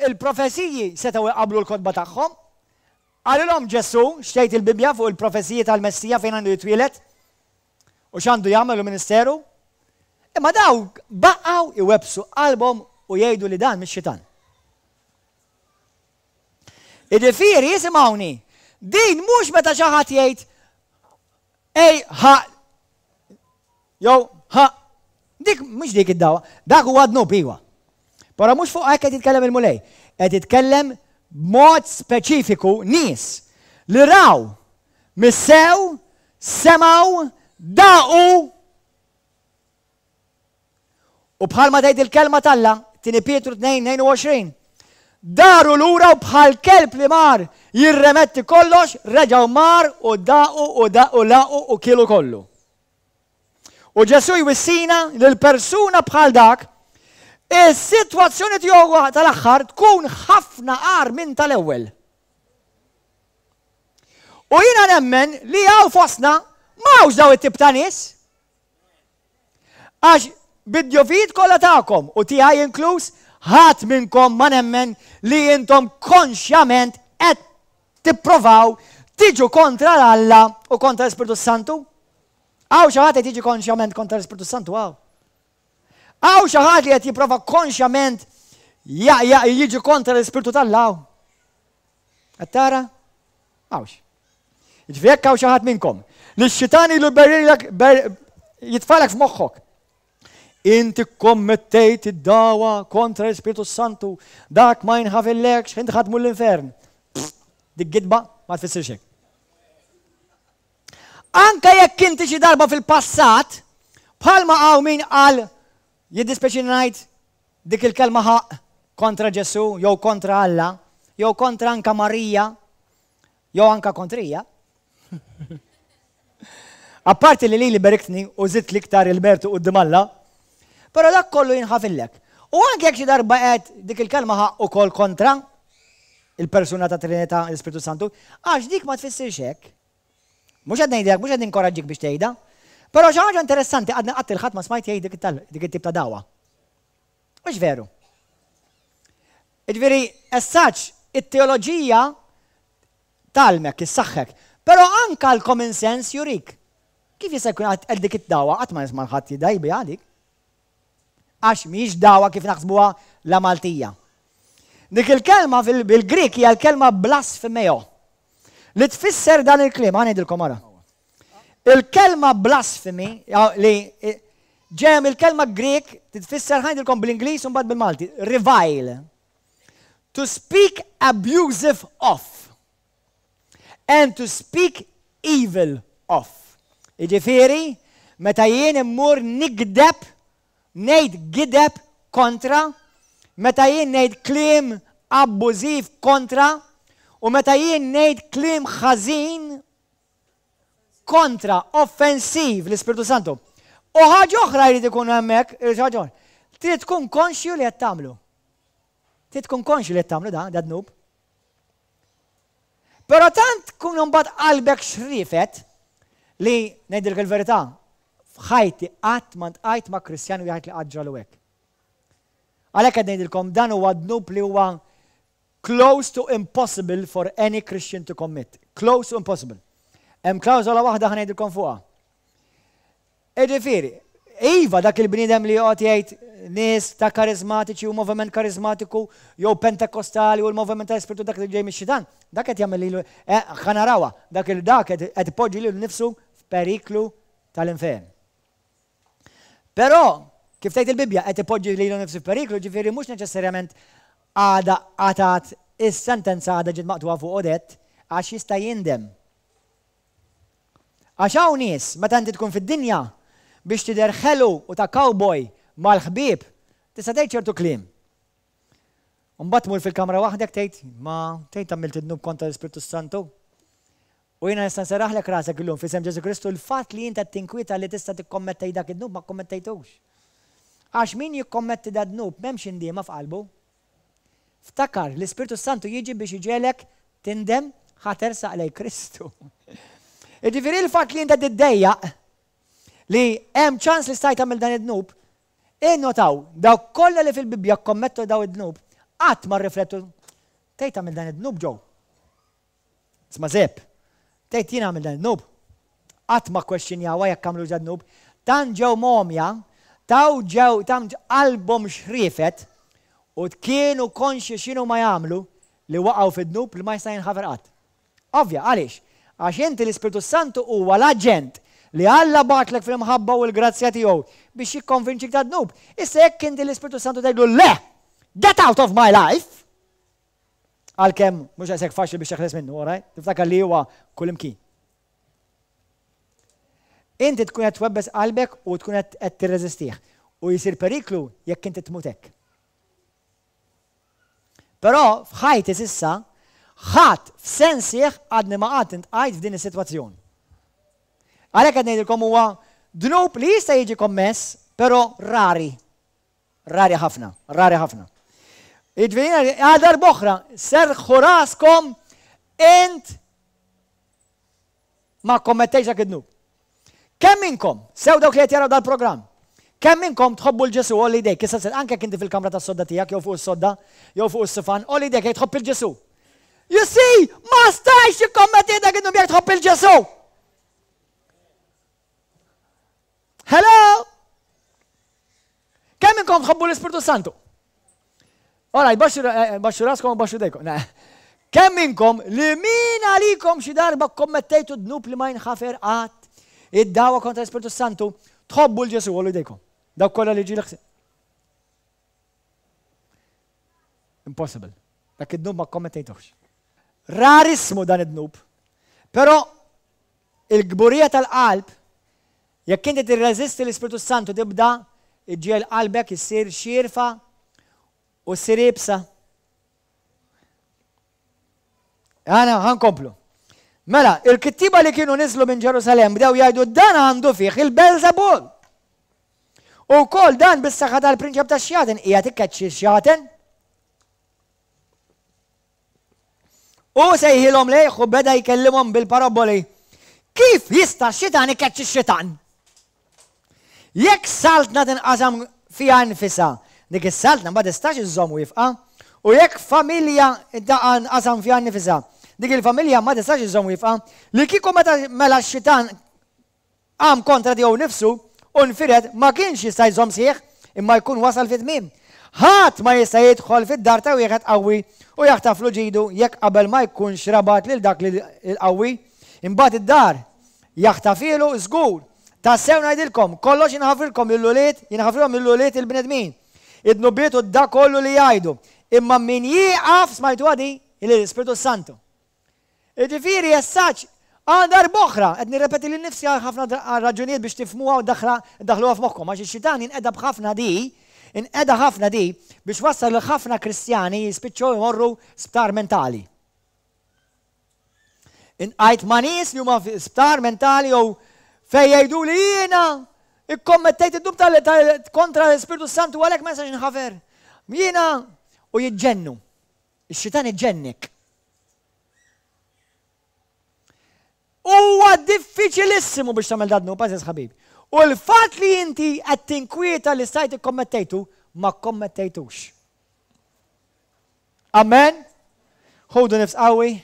il-profeziji setgħu jqablu l-kotba tagħhom. Qalilhom Ġesù x'tgħid il-Bibbja fuq il-profeziji tal-Messija fejn għandu jitwieled u x'għandu jagħmel u ministeru. Imma daw baqgħu iwebbsu qalbhom u jgħidu li dan mix-xitan. Jiġifieri isimgħuni, din mhux meta xi ħadd jgħid ej ħa jew ħa dik mhux dik id-dawa, dak huwa dnub iwa. Però mhux fuq hekk qed jitkellem il-Mulej, qed jitkellem b'mod speċifiku nies li raw, missew, semgħu, daqu u bħalma tgħid il-kelma t'Alla, tieni Pietru tnejn tnejn u għoxrin, daru lura u bħal kelb li mar jirremetti kollox, reġgħu mar u daqu u daqu laqu u kielu kollu. U Ġesù jwissina li l-persuna bħal dak, is-sitwazzjoni tiegħu tal-aħħar tkun ħafna agħar minn tal-ewwel. U jiena nemmen li hawn fostna m'hawnx daw it-tip ta' nies. Għax bid-djufijiet kollha tagħkom u tiegħi inkluż, ħadd minnkom ma nemmen li intom konxjament qed tipprovaw tiġu kontra Alla u kontra l-Ispirtu Santu. Hawn xi ħadd qed jiġi konxjament kontra l-Ispirtu Santu hawn. Hawn xi ħadd li qed jipprova konxjament jiġi kontra l-Ispirtu t'Alla? Qed tara? Hawnx. Jiġifieri jekk hawn xi ħadd minnkom li x-xitan ilu jitfalek f'moħħok. Inti kommettejt id-dawa kontra l-Ispirtu Santu, dak ma jinħafillekx, inti ħa tmur l-infern. Dik gidba ma tfissirx hekk. Anka jekk inti xi darba fil-passat, bħalma hawn min qal, jiddispjaċini ngħid dik il-kelma ħaqq kontra Ġesù, jew kontra Alla, jew kontra anka Marija, jew anka kontrija. Apparti li li li beriktni u żidt l-iktar il-mertu quddiem Alla, però dak kollu jinħafillek. U anke jekk xi darba qed dik il-kelma ħaqq ukoll kontra il-persuna ta' Trinità, l-Ispirtu Santu, għax dik ma tfissirx hekk. Mhux qed ngħidlek, mhux qed ninkoraġġik biex tgħidha. Però xi ħaġa interessanti, għadni qatt il-ħadd ma smajt jgħid dik it-tip ta' dawa. Mhux veru. Jiġifieri, as such, it-teoloġija tgħallmek, issaħħek, però anka l-common sense jurik. Kif jista' jkun qed dik id-dawa qatt ma nisma' ħadd jidaj biha dik? Għax mhijiex dawa kif naħsbuha la Maltija. Dik il-kelma fil-Grik hija l-kelma blasfemeo. Li tfisser dan il-kliem, ħa ngħidilkom ara. Il-kelma blasphemy, li ġem il-kelma Grik tfisser, ħa ngħidilkom bl-Ingliż u mbagħad bil-Malti, revile. To speak abusive of. And to speak evil of. Jiġifieri, meta jien immur nigdeb, ngħid gideb kontra, meta jien ngħid kliem abbużiv kontra, u meta jien ngħid kliem ħażin kontra, offensiv l-Ispirtu Santu. U ħaġa oħra jrid ikun hemmhekk, ħaġa oħra. Trid tkun konxju li qed tagħmlu. Trid tkun konxju li qed tagħmlu da, da dnub. Però tant tkun imbagħad qalbek xrifet li ngħidilek il-verità, f'ħajti qatt ma ltqajt ma' Kristjan wieħed li qatt ġralu hekk. Għalhekk qed ngħidilkom dan huwa dnub li huwa close to impossible for any Christian to commit. Close to impossible. Hemm klawżola waħda ħa ngħidilkom fuqha. Jiġifieri, iva, dak il-bniedem li joqgħod jgħid nies ta' karizmatiċi u moviment karizmatiku jew pentekostali u l-moviment ta' Spiritu dak li ġej mix-xitan, dak qed jagħmel lilu, eh, ħa narawha, dak il dak qed ipoġġi lilu nnifsu f'periklu tal-infern. Però, kif tgħid il-Bibbja, qed ipoġġi lilu nnifsu f'periklu, ġifieri mhux neċessarjament għada għatat is-sentenza għada ġiet maqtugħa fuq odett, għax jista' jindem. Għax hawn nies, meta inti tkun fid-dinja, biex tidher ħelu u ta' cowboy mal-ħbieb, tista' tgħid ċertu kliem. Mbagħad tmur fil-kamra waħdek tgħid, ma tgħid għamilt id-dnub kontra l-Ispirtu Santu. U jiena nista' nserraħlek rasek illum f'isem Ġesu Kristu, l-fatt li inta tinkwieta li tista' tikkommettej dak id-dnub, ma kkommettejtux. Għax min jikkommetti da dnub m'hemmx indiema f'qalbu. Ftakar, l-Ispirtu Santu jiġi biex iġegħlek tindem ħa tersaq lejn Kristu. Jiġifieri l-fatt li inta tiddejjaq li hemm ċans li stajt tagħmel dan id-dnub, innotaw, dawk kollha li fil-Bibbja kommettu daw id-dnub, qatt ma rriflettu, tgħid tagħmel dan id-dnub ġew. Isma' Zepp, tgħid jien għamil dan id-dnub. Qatt ma kwestjonjawha jekk għamlu dnub. Tan ġew momja, taw ġew tam qalbhom xrifet u kienu konxi x'inhu ma jagħmlu li waqgħu fid-dnub li ma jista' jinħafer qatt. Ovvja, għaliex? Għax inti l-Ispirtu Santu huwa l-aġent li Alla bagħatlek fil-mħabba u l-grazzja tiegħu biex jikkonvinċik ta' dnub. Issa jekk inti l-Ispirtu Santu tgħidlu le, get out of my life! Għalkemm mhux għasek faċli biex teħles minnu, all right? Tiftakar li huwa kullimkien. Inti tkun qed twebbes qalbek u tkun qed tirreżistih. U jisir periklu jekk inti tmut hekk. Però f'ħajti s'issa ħadd f'sensih għadni ma qatt intqajt f'din is-sitwazzjoni. Għalhekk qed ngħidilkom huwa dnub li jista' jiġi kommess, però rari. Rari ħafna, rari ħafna. Jiġifieri għal darb'oħra, serħu raskom, int ma kommettejx dak id-dnub. Kemm minnkom, sew dawk li qed jaraw dal-programm, kemm minnkom tħobbu l-Ġesu, għolli idejk, issa anke inti fil-kamra tas-sodda tiegħek jew fuq is-sodda, jew fuq is-sifan, għolli idejk jekk tħobb il-Ġesu. You see, ma stajx tikkommetti dak id-dnub jekk tħobb il-Ġesu. Hello? Kemm minnkom tħobbu l-Ispirtu Santu? Alright, baxxu raskom u baxxu dejkom. Kemm minnkom li min għalikom xi darba kommettejtu dnub li ma jinħafer qatt, id-dawa kontra l-Ispirtu Santu, tħobbu l-Ġesu għollu jdejkom. Dawk kollha li ġieli ħsieb. Impossible. Dak id-dnub ma kommettejtux. Rarismu dan id-dnub. Però il-kburija tal-qalb, jekk inti tirreżisti l-Ispirtu Santu tibda iġġiegħel qalbek issir xierfa u ssir iebsa. Għana, ħankomplu. Mela, il-kittiba li kienu niżlu minn Ġerusalem bdew jgħidu dan għandu fih il-Belzebul. U wkoll dan bis-saħħa tal-prinċep tax-xjaten qiegħed ikkeċċi x-xjaten. U sejħilhom lejh u beda jkellimhom bil-paraboli. Kif jista' x-xitan ikeċċi x-xitan? Jekk saltna tinqasam fiha nfisha, dik is-saltna ma tistax iżżomm wieqfa, u jekk familja nqasam fiha nifisha, dik il-familja ma tistax iżżomm wieqfa, li kieku meta mela x-xitan qam kontra tiegħu nnifsu u nfired ma kienx jista' jżomm sħiħ, imma jkun wasal fit-tmiem. Ħadd ma jista' jidħol fid-dar ta' wieħed qawwi u jaħtaflu ġidu jekk qabel ma jkunx rabat lil dak il-qawwi, imbagħad id-dar jaħtafielu żgur. Tassew ngħidilkom, kollox jinħafrilkom lill-ulied, jinħafrilhom lill-ulied il-bnedmin, id-dnubiet u dak kollu li jgħidu. Imma min jieqaf, smajtuha di, lill-Ispirtu s-Santu. Jiġifieri as such, għal darb'oħra, qed nirrepeti lil nifsi għal ħafna raġunijiet biex tifhmuha u ddaħħluha f'moħħkom, għax ix-xitan jinqeda b'ħafna di, inqeda ħafna di biex wassal lil ħafna Kristjani jispiċċaw imorru sptar mentali. Inqajt ma' nies li huma fi sptar mentali jew fejn jgħidu li jiena ikkommettejt id-dnub kontra l-Ispirtu Santu għalhekk ma nistax inħafer. Jiena u jiġġennu. Ix-xitan iġġennik. Huwa diffiċilissimu biex tagħmel dan dnub, għażiż ħabib. U l-fatt li inti qed tinkwieta li stajt ikkommettejtu, ma kkommettejtux. Amen? Ħudu nifs qawwi.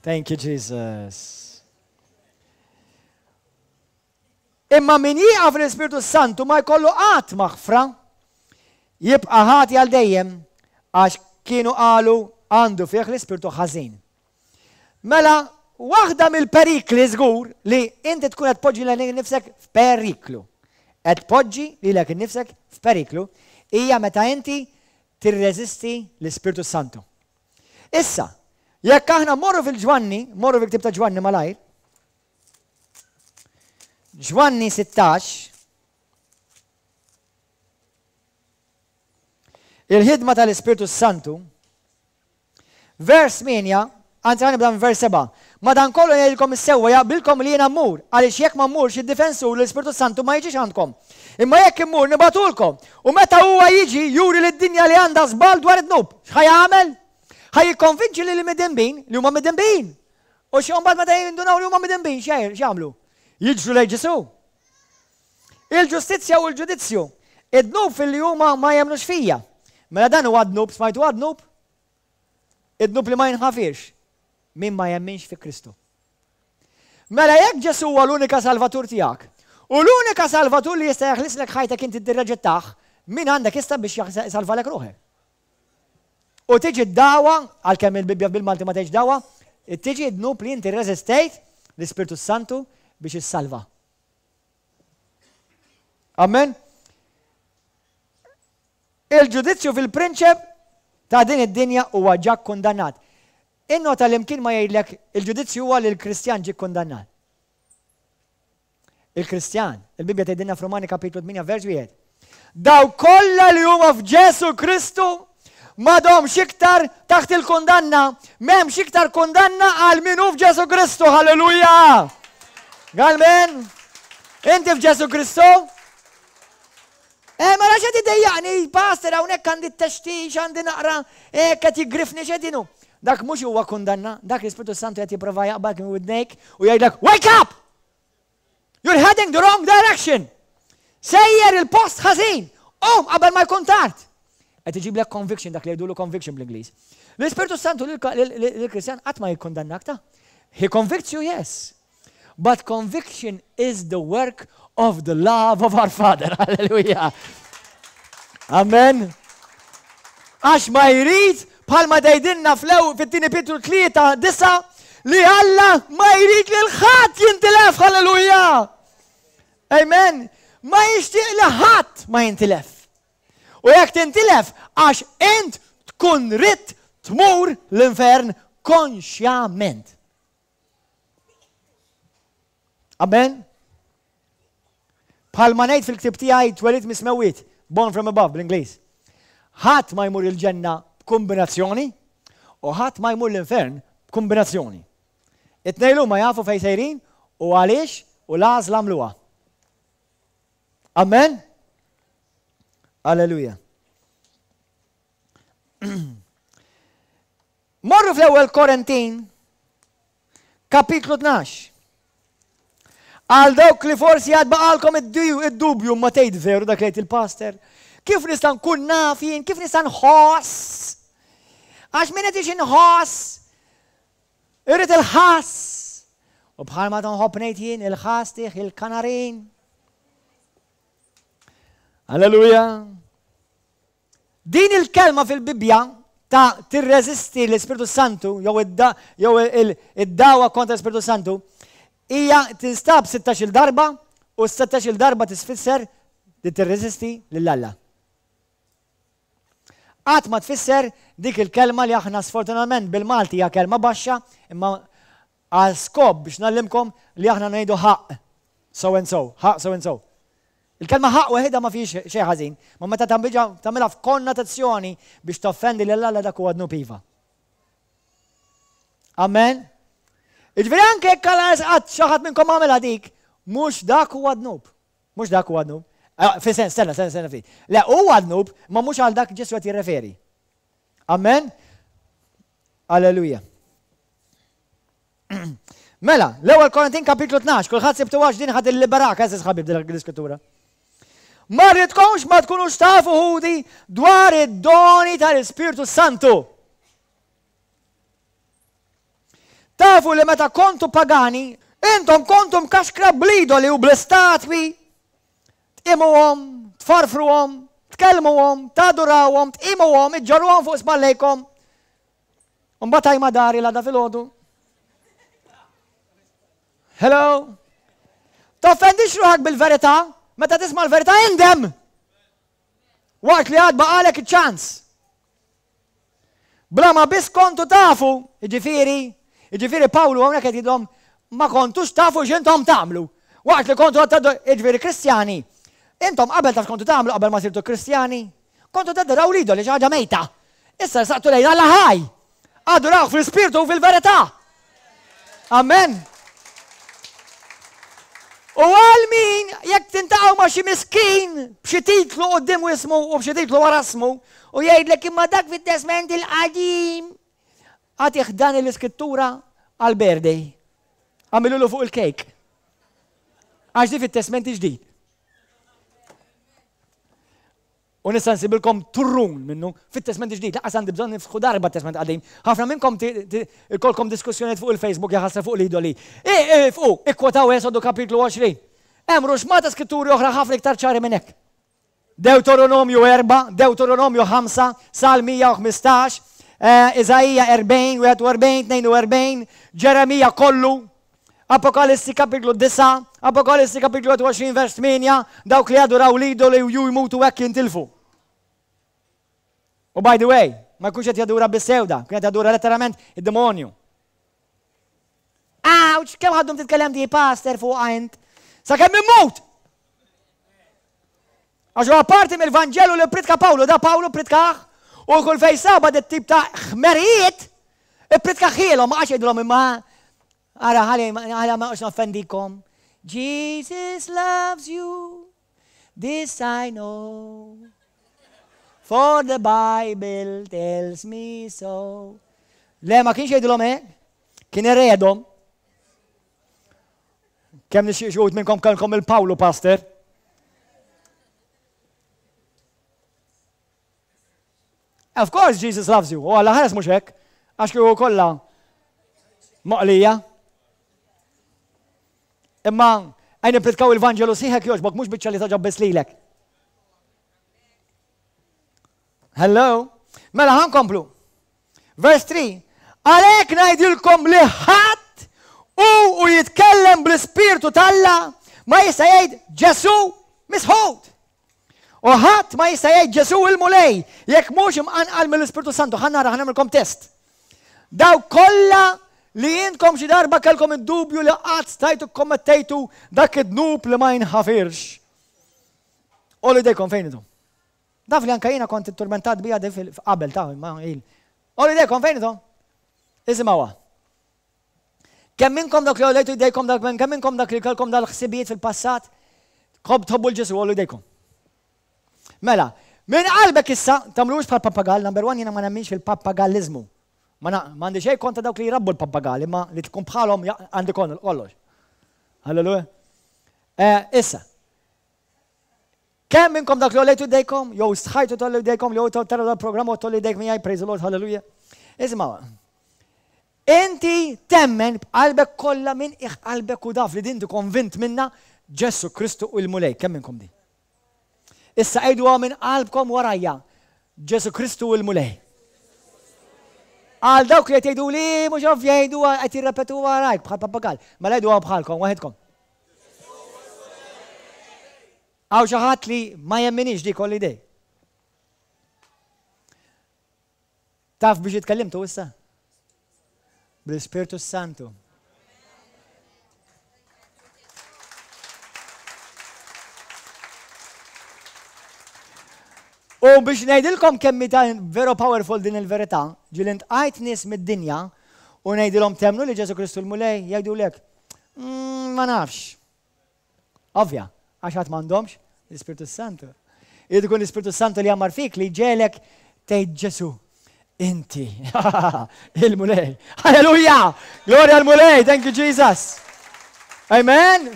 Thank you, Jesus. Imma min jieqaf l-Ispirtu Santu ma jkollu qatt maħfra, jibqa' ħati għal dejjem, għax kienu qalu għandu fih l-ispirtu ħażin. Mela, waħda mill-perikli żgur li inti tkun qed tpoġġi lilek innifsek f'periklu. Qed tpoġġi lilek innifsek f'periklu hija meta inti tirreżisti l-Ispirtu Santu. Issa, jekk aħna mmorru fil-Ġwanni, mmorru fil-ktieb ta' Ġwanni malajr, Ġwanni sittax, il-ħidma tal-Ispirtu Santu, vers tmienja, anzi ħa nibda minn vers sebgħa. Madankollu ngħidilkom is-sewwa jaqbilkom li jiena mmur, għaliex jekk ma mmurx id-difensur l-Ispirtu Santu ma jiġix għandkom. Imma jekk immur nibagħtulkom. U meta huwa jiġi juri lid-dinja li għandha żball dwar id-dnub. X'ħa jagħmel? Ħa jikkonvinċi lill-midinbin li huma midinbin. U xi mbagħad meta jindunaw li huma midinbin x'jagħmlu? Jiġru lejn Ġesù. Il-ġustizzja u l-ġudizzju. Id-dnub filli huma ma jemmnux fija. Mela dan huwa dnub, smajtu għad-dnub? Id-dnub li ma jinħafirx. Min ma jemminx fi Kristu. Mela jekk Ġesù huwa l-unika salvatur tiegħek, u l-unika salvatur li jista' jeħlislek ħajtek inti tirreġettah, min għandek issa biex jsalvalek ruħek? U tiġi d-dagħwa, għalkemm il-Bibbja bil-Malti ma tgħidx dagħwa, tiġi d-dnub li inti rreżistejt l-Ispirtu Santu biex issalva. Amen. Il-ġudizzju fil-prinċep ta' din id-dinja huwa ġa kkundannat. Innota li mkien ma jgħidlek il-ġudizzju huwa li l-Kristjan ġie kkundannat. Il-Kristjan, il-Bibbja tgħidilna f'Rumani kapitlu tmienja vers wieħed. Dawk kollha li huma f'Ġesu Kristu m'għadhomx iktar taħt il-kundanna, m'hemmx iktar kundanna għal min hu f'Ġesu Kristu. Halleluja! Galmen? Inti f'Ġesu Kristu? Eh, mela x'qed idejjaqni, pastor, hawnhekk għandi t-textix, għandi naqra, eh, qed jiggrifni x'qed inhu. Dak mhux huwa kundanna, dak l-Ispirtu Santu qed jipprova jaqbad minn widnejk u jgħidlek, wake up! You're heading the wrong direction! Sejjer il-post ħażin! Qum qabel ma jkun tard! Qed iġiblek conviction, dak li jgħidulu conviction bl-Ingliż. L-Ispirtu Santu lill-Kristjan qatt ma jikkundannak ta'. He convicts you, yes. But conviction is the work of the love of our Father. Hallelujah. Amen. Għax ma jrid bħalma tgħidilna flew fit-tieni Pietru tlieta disa li Alla ma jrid li l-ħadd jintilef, halleluja. Amen. Ma jixtieq li ħadd ma jintilef. U jekk tintilef għax int tkun ridt tmur l-infern konxjament. Amen. Bħalma ngħid fil-ktib tiegħi Twelid mis-Smewwiet, Born from Above bl-Ingliż. Ħadd ma jmur il-ġenna b'kombinazzjoni u ħadd ma jmur l-infern b'kombinazzjoni. It-tnejn huma jafu fejn sejrin u għaliex u l-għażla għamluha. Amen? Alleluja. Morru fl-ewwel Korintin, kapitlu tnax. Għal dawk li forsi għad baqalkom id-dubju ma tgħid veru dak li jgħid il-pastor. Kif nista' nkun naf jien, kif nista' nħoss? Għax min qed inħoss, irrid il-ħass. U bħalma tonħobb ngħid jien il-ħass tih il-kanarin. Alleluja. Din il-kelma fil-Bibbja ta' tirreżisti l-Ispirtu Santu jew id-dagħwa kontra l-Ispirtu Santu hija tinstab sittax-il darba u s-sittax-il darba tisfisser li tirreżisti lil Alla. Qatt ma tfisser dik il-kelma li aħna sfortunatament bil-Malti hija kelma baxxa imma għal skop biex ngħallimkom li aħna ngħidu ħaqq so and so, ħaqq so and so. Il-kelma ħaqq weħidha ma fihiex xejn ħażin, ma meta tagħmilha f'konnotazzjoni biex toffendi lil Alla dak huwa dnub iva. Amen. Jiġifieri anke jekk Alla qatt xi ħadd minnkom għamilha dik, mhux dak huwa dnub. Mhux dak huwa dnub. Eh, fi sens, stenna, stenna, stenna ftit. Le, huwa dnub, ma mhux għal dak Ġesù qed jirreferi. Amen. Alleluja. Mela, l-ewwel Korintin kapitlu tnax, kulħadd sibtu għax din ħad illiberak, eżiż ħabib din l-iskrittura. Ma rridkomx ma tkunux tafu ħudi dwar id-doni tal-Ispirtu Santu. Tafu li meta kontu pagani, intom kontu mkaxkra bl-idoli u bl-istatwi, tqimuhom, tfarfruhom, tkellmuhom, tadurawhom, tqimuhom, iġġorruhom fuq spallejkom. Mbagħad għajma dari l-għada filgħodu. Hello? Toffendix ruħak bil-verità, meta tisma' l-verità indem. Waqt li għad baqalek iċ-ċans. Bla ma biss kontu tafu, jiġifieri, jiġifieri Pawlu hawnhekk qed jgħidilhom ma kontux tafu x'intom tagħmlu. Waqt li kontu għad jiġifieri Kristjani, intom qabel taf x'kontu tagħmlu qabel ma sirtu Kristjani? Kontu tadoraw l-idoli, xi ħaġa mejta. Issa rsaqtu lejn Alla ħaj. Adurawh fl-ispirtu u fil-verità. Amen. U għal min jekk tintaqgħu ma' xi miskin b'xi titlu quddiem ismu u b'xi titlu wara ismu u jgħidlek imma dak fit-Testment il-Qadim. Agħtih dan l-iskrittura għal birthday. Għamilulu fuq il-kejk. Għax di fit-Testment il-Ġdid. U nista' nsibilkom turrun minnu fit-Testment il-Ġdid. Lanqas għandi bżonn niftħu darba t-Testment Qadim. Ħafna minnkom ikollkom diskussjonijiet fuq il-Facebook jaħasra fuq l-idoli. Ifqu, ikkwotaw Esodu kapitlu għoxrin. Hemm ruxmata skritturi oħra ħafna iktar ċari minn hekk. Dewtoronomju erbgħa, Dewtoronomju ħamsa, Salm mija u ħmistax, Iżaija erbgħin, wieħed u erbgħin, tnejn u erbgħin, Ġeremija kollu, Apokalissi kapitlu disgħa, Apokalissi kapitlu wieħed u għoxrin vers tmienja, dawk li jaduraw l-idoli u ju jmutu hekk jintilfu. U by the way, ma jkunx qed jadura biss sewda, jkun qed jadura letteralment id-demonju. Ouch, kemm ħaddum titkellem di pastor fuqha int? Sakemm immut! Għax huwa parti mill-Vanġelu li ppritka Pawlu, da Pawlu ppritkah u kull fejn saba dit tip ta' ħmerijiet ippritkahilhom, ma qagħadx jgħidilhom imma ara ħalli ħalli ma noqgħodx noffendikom. Jesus loves you, this I know, for the Bible tells me so. Le, ma kienx jgħidilhom hekk, kien iredhom. Kemm nixtieq xi wħud minnkom kellkom il-Pawlu pastor. Of course Jesus loves you. U Alla ħares mhux hekk, għax kieku kollha moqlija. Imma għajn nippritkaw il-Vanġelu sieħek jogħġbok mhux biċċa li togħġob biss lilek. Hello? Mela ħa nkomplu. Verse three. Għalhekk ngħidilkom li ħadd u u jitkellem bl-Ispirtu t'Alla ma jista' jgħid Ġesù misħut. U ħadd ma jista' jgħid Ġesù il-Mulej jekk mhux imqanqal mill-Ispirtu Santu. Ħa nara, ħa nagħmilkom test. Dawk kollha li intkom xi darba kellkom id-dubju li qatt stajtu kkommettejtu dak id-dnub li ma jinħafirx. Għollu jdejkom fejn intom. Taf li anka jiena kont itturmentat bija di qabel ta' imma il. Għollu jdejkom fejn intom. Isimgħuha. Kemm minnkom dak li għolejtu jdejkom dak kemm minnkom dak li kellkom dal-ħsibijiet fil-passat, kob tħobbu l-Ġesu għollu jdejkom. Mela, minn qalbek issa, tagħmlux bħal pappagall, number one jiena ma nemminx fil-pappagallizmu. Ma għandi xejn kontra dawk li jrabbu l-pappagalli, imma li tkun bħalhom għandi kollox. Halleluja. Eh, issa, kemm minnkom dak li għolejtu jdejkom, jew stħajtu tollu jdejkom, jew tara dal-programm u tollu jdejk miegħi, praise the Lord, hallelujah. Isma' inti temmen b'qalbek kollha minn qiegħ qalbek u daf li din konvint minna Ġesù Kristu u l-Mulej. Kemm minnkom di? Issa għiduha minn qalbkom warajja. Ġesù Kristu u l-Mulej. Għal dawk li qed jgħidu li mhux ovvja jgħiduha qed jirrepetu warajk bħal pappagall. Mela għiduha bħalkom waħedkom. Hawn xi ħadd li ma jemminix dik kollu idej. Taf biex itkellimtu issa? Bl-Ispirtu Santu. U biex ngħidilkom kemm hi veru powerful din il-verità, ġieli ntqajt nies mid-dinja u ngħidilhom temmnu li Ġesù Kristu l-Mulej, jgħidulek, mm, ma nafx. Ovvja, għax għad m'għandhomx l-Ispirtu Santu. Irid ikun l-Ispirtu Santu li jgħammar fik li jġegħlek tgħid Ġesù, inti il-Mulej. Halleluja! Glorja l-Mulej, thank you Jesus. Amen.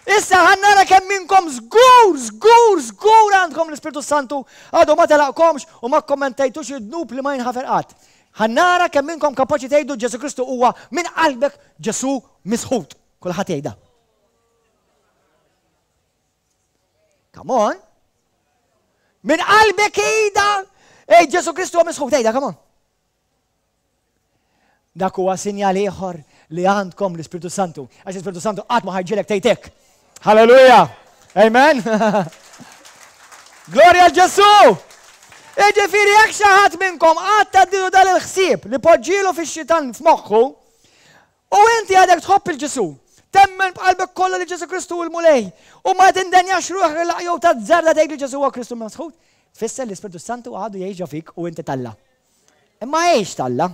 Issa ħa nara kemm minnkom żgur, żgur, żgur għandkom l-Ispirtu Santu, għadu ma telaqkomx u ma kommentejtux id-dnub li ma jinħafer qatt. Ħa nara kemm minnkom kapaċi tgħidu Ġesù Kristu huwa minn qalbek Ġesù misħut. Kulħadd jgħidha. Come on. Minn qalbek ida, ej Ġesù Kristu huwa misħut, ejda, come on. Dak huwa sinjal ieħor li għandkom l-Ispirtu Santu. Għax l-Ispirtu Santu qatt ma ħajġilek tgħid hekk. Halleluja! Amen! Glorja l Ġesù! Iġifieri jekk xi ħadd minnkom qatt tgħaddilu dan il-ħsieb li poġġielu fix-xitan f'moħħu, U inti għadek tħobb 'il Ġesù, temmen b'qalbek kollha li Ġesù Kristu hu l-Mulej, u ma tindenjax ruħek li jew tazzarda tgħid li Ġesù huwa Kristu l-Mesħut, tfisser li l-Ispirtu s-Santu għadu jgħix ġo fik u inti t'Alla. Imma għix t'Alla.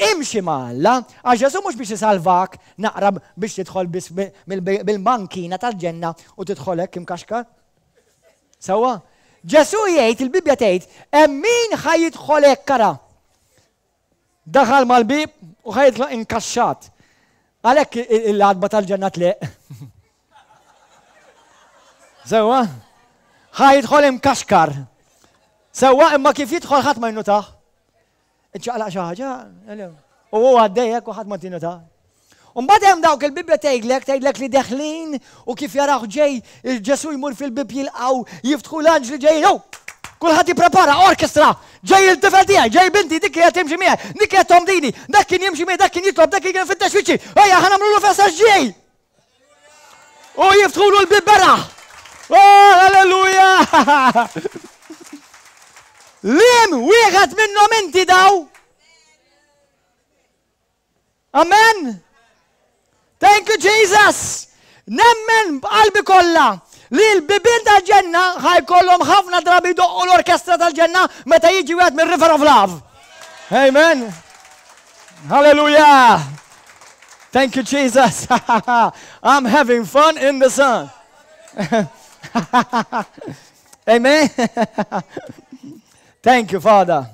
Imxi ma' Alla, għax Ġesù mhux biex isalvak naqra biex tidħol biss mill-bankina tal-ġenna u tidħol hekk imkaxkar. Sewwa? Ġesù jgħid, il-Bibbja tgħid, hemm min ħa jidħol hekk ara. Daħal mal-bieb u ħa jitlaq inkaxxat. Għalhekk l-għatba tal-ġenna tleq. Sewwa? Ħa jidħol imkaxkar. Sewwa imma kif jidħol ħadd ma jinnutah. Iċċaqlaq xi ħaġa, u hu għaddej hekk u ħadd ma tinnutah. Mbagħad hemm dawk il-Bibbja tgħidlek, tgħidlek li deħlin u kif jarawh ġej, Ġesù jmur fil-bieb jilqgħu, jiftħu l-anġli ġejjin, oh! Kulħadd jipprepara, orkestra, ġej il-tifel tiegħi, ġej binti, dik kienet timxi miegħi, dik kienet tomdini, dak kien jimxi miegħi, dak kien jitlob, dak kien fittex wiċċi, ejja ħa nagħmlulu festa ġej! U jiftħulu l-bieb beraħ! Oh, halleluja! Liem wieħed minnhom inti daw? Amen! Thank you Jesus! Nemmen b'qalbi kollha li l-bibien tal-ġenna ħajkollhom ħafna drabi jdoqqu l-orkestra tal-ġenna meta jiġi wieħed mir-River of Love. Amen. Hallelujah. Thank you Jesus. I'm having fun in the sun. Amen. Thank you Father.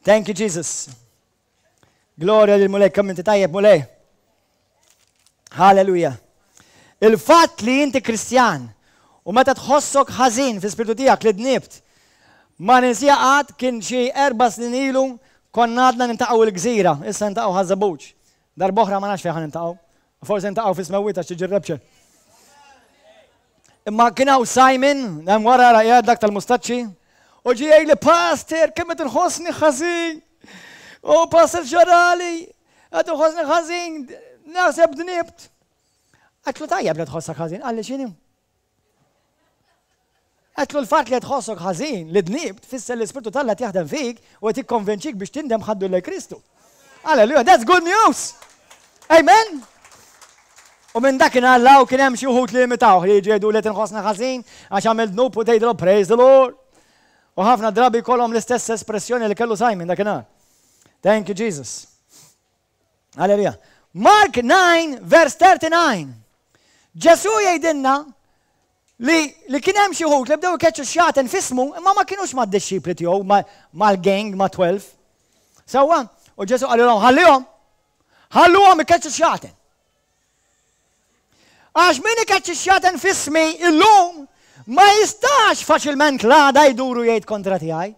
Thank you Jesus. Glorja lil Mulej, kemm inti tajjeb Mulej. Halleluja. Il-fatt li inti Kristjan u meta tħossok ħażin fi spirtu tiegħek li dnibt, ma ninsija qatt kien xi erba' snin ilu konna għadna nintaqgħu il-gżira, issa nintaqgħu Ħaż-Żebbuġ. Darb'oħra ma nafx fejn ħa nintaqgħu. Forsi ntaqgħu fi smewwiet għax tiġi rapture. Imma kien hawn Simon, hemm wara ra dak tal-mustaċċi, u ġie jgħidli, "Pastor, kemm qed inħossni ħażin. O pastor ġarali, qed inħossni ħażin, naħseb dnibt." Għedtlu, "Tajjeb li tħossok ħażin." Qalli, "X'inhu?" Għedtlu, "L-fatt li tħossok ħażin li dnibt tfisser l-Ispirtu t'Alla jaħdem fik u qed jikkonvinċik biex tindem ħaddu lil Kristu. Alleluja, that's good news. Amen. U minn dak Alla u kien hemm xi wħud li imitawh li jgħidu li tinħossna ħażin għax għamil dnub u tgħidlu "Praise the Lord." U ħafna drabi kollhom l-istess espressjoni li kellu Simon dakinhar. Thank you, Jesus. Alleluja. Mark nine verse thirty-nine. Ġesu jgħidilna li, li kien hemm xi wħud li bdew ikeċċu xjaten f'ismu, imma ma kienux mad-dixxipli tiegħu, mal-gang, ma' tnax. Sewwa, u Ġesu qalilhom, "Ħallihom, ħalluhom ikeċċu xjaten. Għax min ikeċċi xjaten f'ismi illum ma jistax faċilment l-għada jduru jgħid kontra tiegħi."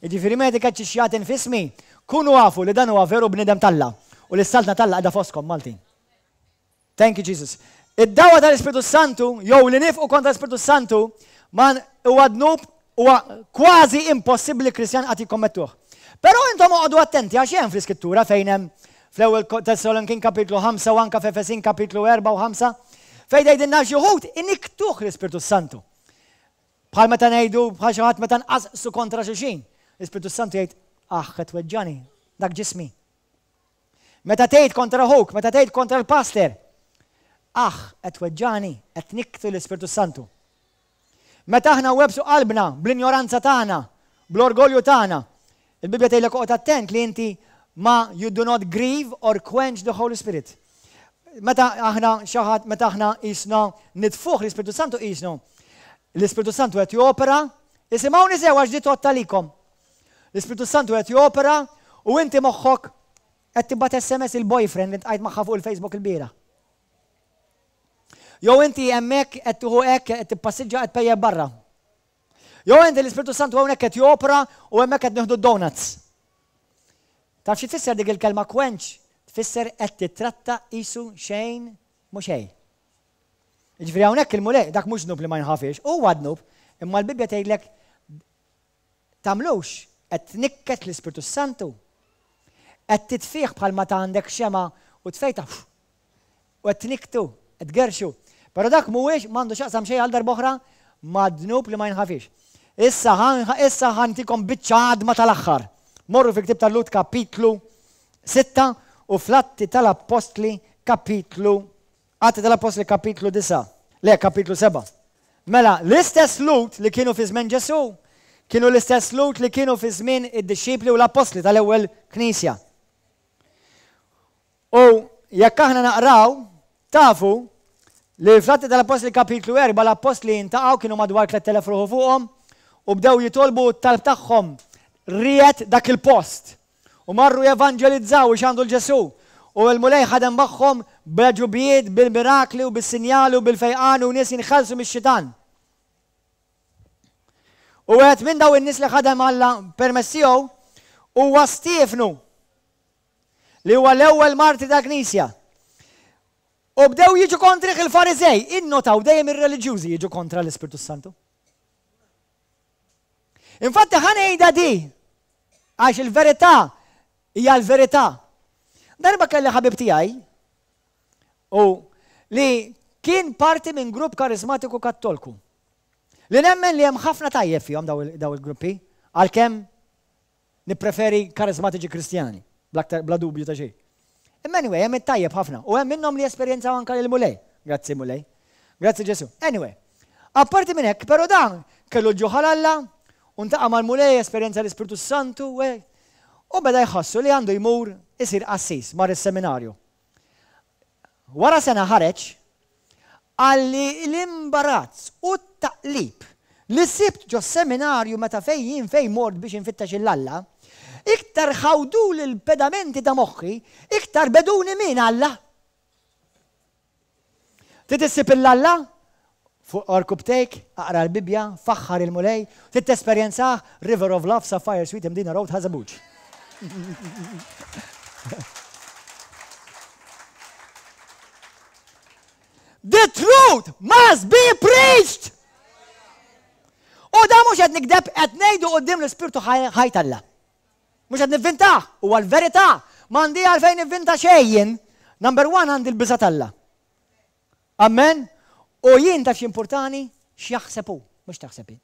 Jiġifieri meta ikeċċi xjaten f'ismi, kunu afu li dan huwa veru bniedem t'Alla u li s-saltna t'Alla qiegħda fostkom, Maltin. Thank you, Jesus. Id-dawa tal-Ispirtu Santu, jew li nifqu kontra l-Ispirtu Santu, man huwa dnub huwa kważi impossibbli Kristjan qatt jikkommettuh. Però intom oqogħdu attenti għax hemm fl-Iskrittura fejn hemm fl-ewwel Tessalonikin kapitlu ħamsa u anka f'Efesin kapitlu erbgħa u ħamsa fejn jgħidilna xi wħud inikktuh l-Ispirtu Santu. Bħal meta ngħidu bħal xi ħadd meta nqasqsu kontra xulxin. L-Ispirtu Santu jgħid, "Aħ, qed tweġġani, dak ġismi." Meta tgħid kontra ħuk, meta tgħid kontra l-pastor, "Aħ, qed tweġġani," qed nikktu l-Ispirtu Santu. Meta aħna nwebbsu qalbna bl-injoranza tagħna, bl-orgolju tagħna, il-Bibja tgħidlek oqgħod attent li inti ma you do not grieve or quench the Holy Spirit. Meta aħna xi ħadd, meta aħna jisna nitfuh l-Ispirtu Santu jisnu. L-Ispirtu Santu qed jopera, isimgħuni sew għax di tgħodd. L-Ispirtu Santu qed jopera u inti moħħok qed tibgħat S M S il-boyfriend li ltqajt magħha fuq il-Facebook il-bieraħ. Jew inti hemmhekk qed tieħu hekk qed tippassiġġa qed pejjep barra. Jew inti l-Ispirtu Santu hawnhekk qed jopera u hemmhekk qed nieħdu donuts. Taf xi tfisser dik il-kelma quench? Tfisser qed titratta qisu xejn mhux xejn. Jiġifieri hawnhekk il-Mulej, dak mhux dnub li ma jinħafirx, huwa dnub, imma l-Bibbja tgħidlek tagħmlux, qed tnikket l-Ispirtu Santu. Qed titfih bħal ma ta' għandek xema u tfejta u qed tniktu, qed tgerxu. Però dak mhuwiex m'għandu x'jaqsam xejn għal darb'oħra ma' dnub li ma jinħafirx. Issa issa ħa ntikom biċċa għadma tal-aħħar. Morru fi ktieb tal-Lhud kapitlu sitta u fl-Atti tal-Appostli kapitlu Atti tal-Appostli kapitlu disgħa. Le, kapitlu sebgħa. Mela, l-istess Lhud li kienu fi żmien Ġesu, kienu l-istess Lhud li kienu fi żmien id-dixxipli u l-appostli tal-ewwel knisja. U jekk aħna naqraw, tafu li fl-Atti tal-Appostli kapitlu erbgħa l-appostli ltaqgħu, kienu madwar tlett elef ruħu fuqhom u bdew jitolbu t-talb tagħhom riegħed dak il-post. U marru jevanġelizzaw u xandru 'l Ġesu. U l-Mulej ħadem magħhom bl-għeġubijiet, bil-mirakli u bil-sinjali u bil-fejqan u nies jinħelsu mix-xitan. U għed minn daw in-nies li ħadem Alla permezz tiegħu huwa Stiefnu li huwa l-ewwel martri ta' knisja. U bdew jiġu kontrih il-Farizej, innotaw dejjem ir-reliġjużi jiġu kontra l-Ispirtu Santu. Infatti ħa ngħidha di, għax il-verità hija l-verità. Darba kelli ħabib tiegħi u li kien parti minn grupp karizmatiku kattolku. Li nemmen li hemm ħafna tajjeb fihom daw il-gruppi, għalkemm nippreferi karizmatiċi kristjani, bla dubju ta' xejn. Imma anyway, hemm it-tajjeb ħafna. U hemm minnhom li esperjenzaw anka l-Mulej. Grazzi, Mulej. Grazzi, Ġesu. Anyway, apparti minn hekk, però dan kellu ġuħ għal Alla, u ltaqa' mal-Mulej, esperjenza l-Ispirtu Santu, u beda jħossu li għandu jmur isir qassis, mar is-seminarju. Wara sena ħareġ, qalli, "L-imbarazz u t-taqlib li sibt ġo seminarju meta fejn fejn mort biex infittax 'l Alla, iktar ħawdu l-pedamenti ta' moħħi, iktar begħduni minn Alla." Trid issib 'l Alla? Fuq għarkupptejk, aqra l-Bibja, faħħar il-Mulej, trid tesperjenza River of Love, Sapphire Suite, Mdina Road, Ħaż-Żebbuġ. The truth must be preached! U da mhux qed nikdeb qed ngħidu quddiem l-Ispirtu ħaj t'Alla. Mhux qed nivvintah, huwa l-verità. M'għandi għalfejn nivvinta xejn jien. Number one għandi l-biża' t'Alla. Amen. U jien taf x'importani x'jaħseb hu, mhux taħseb jien.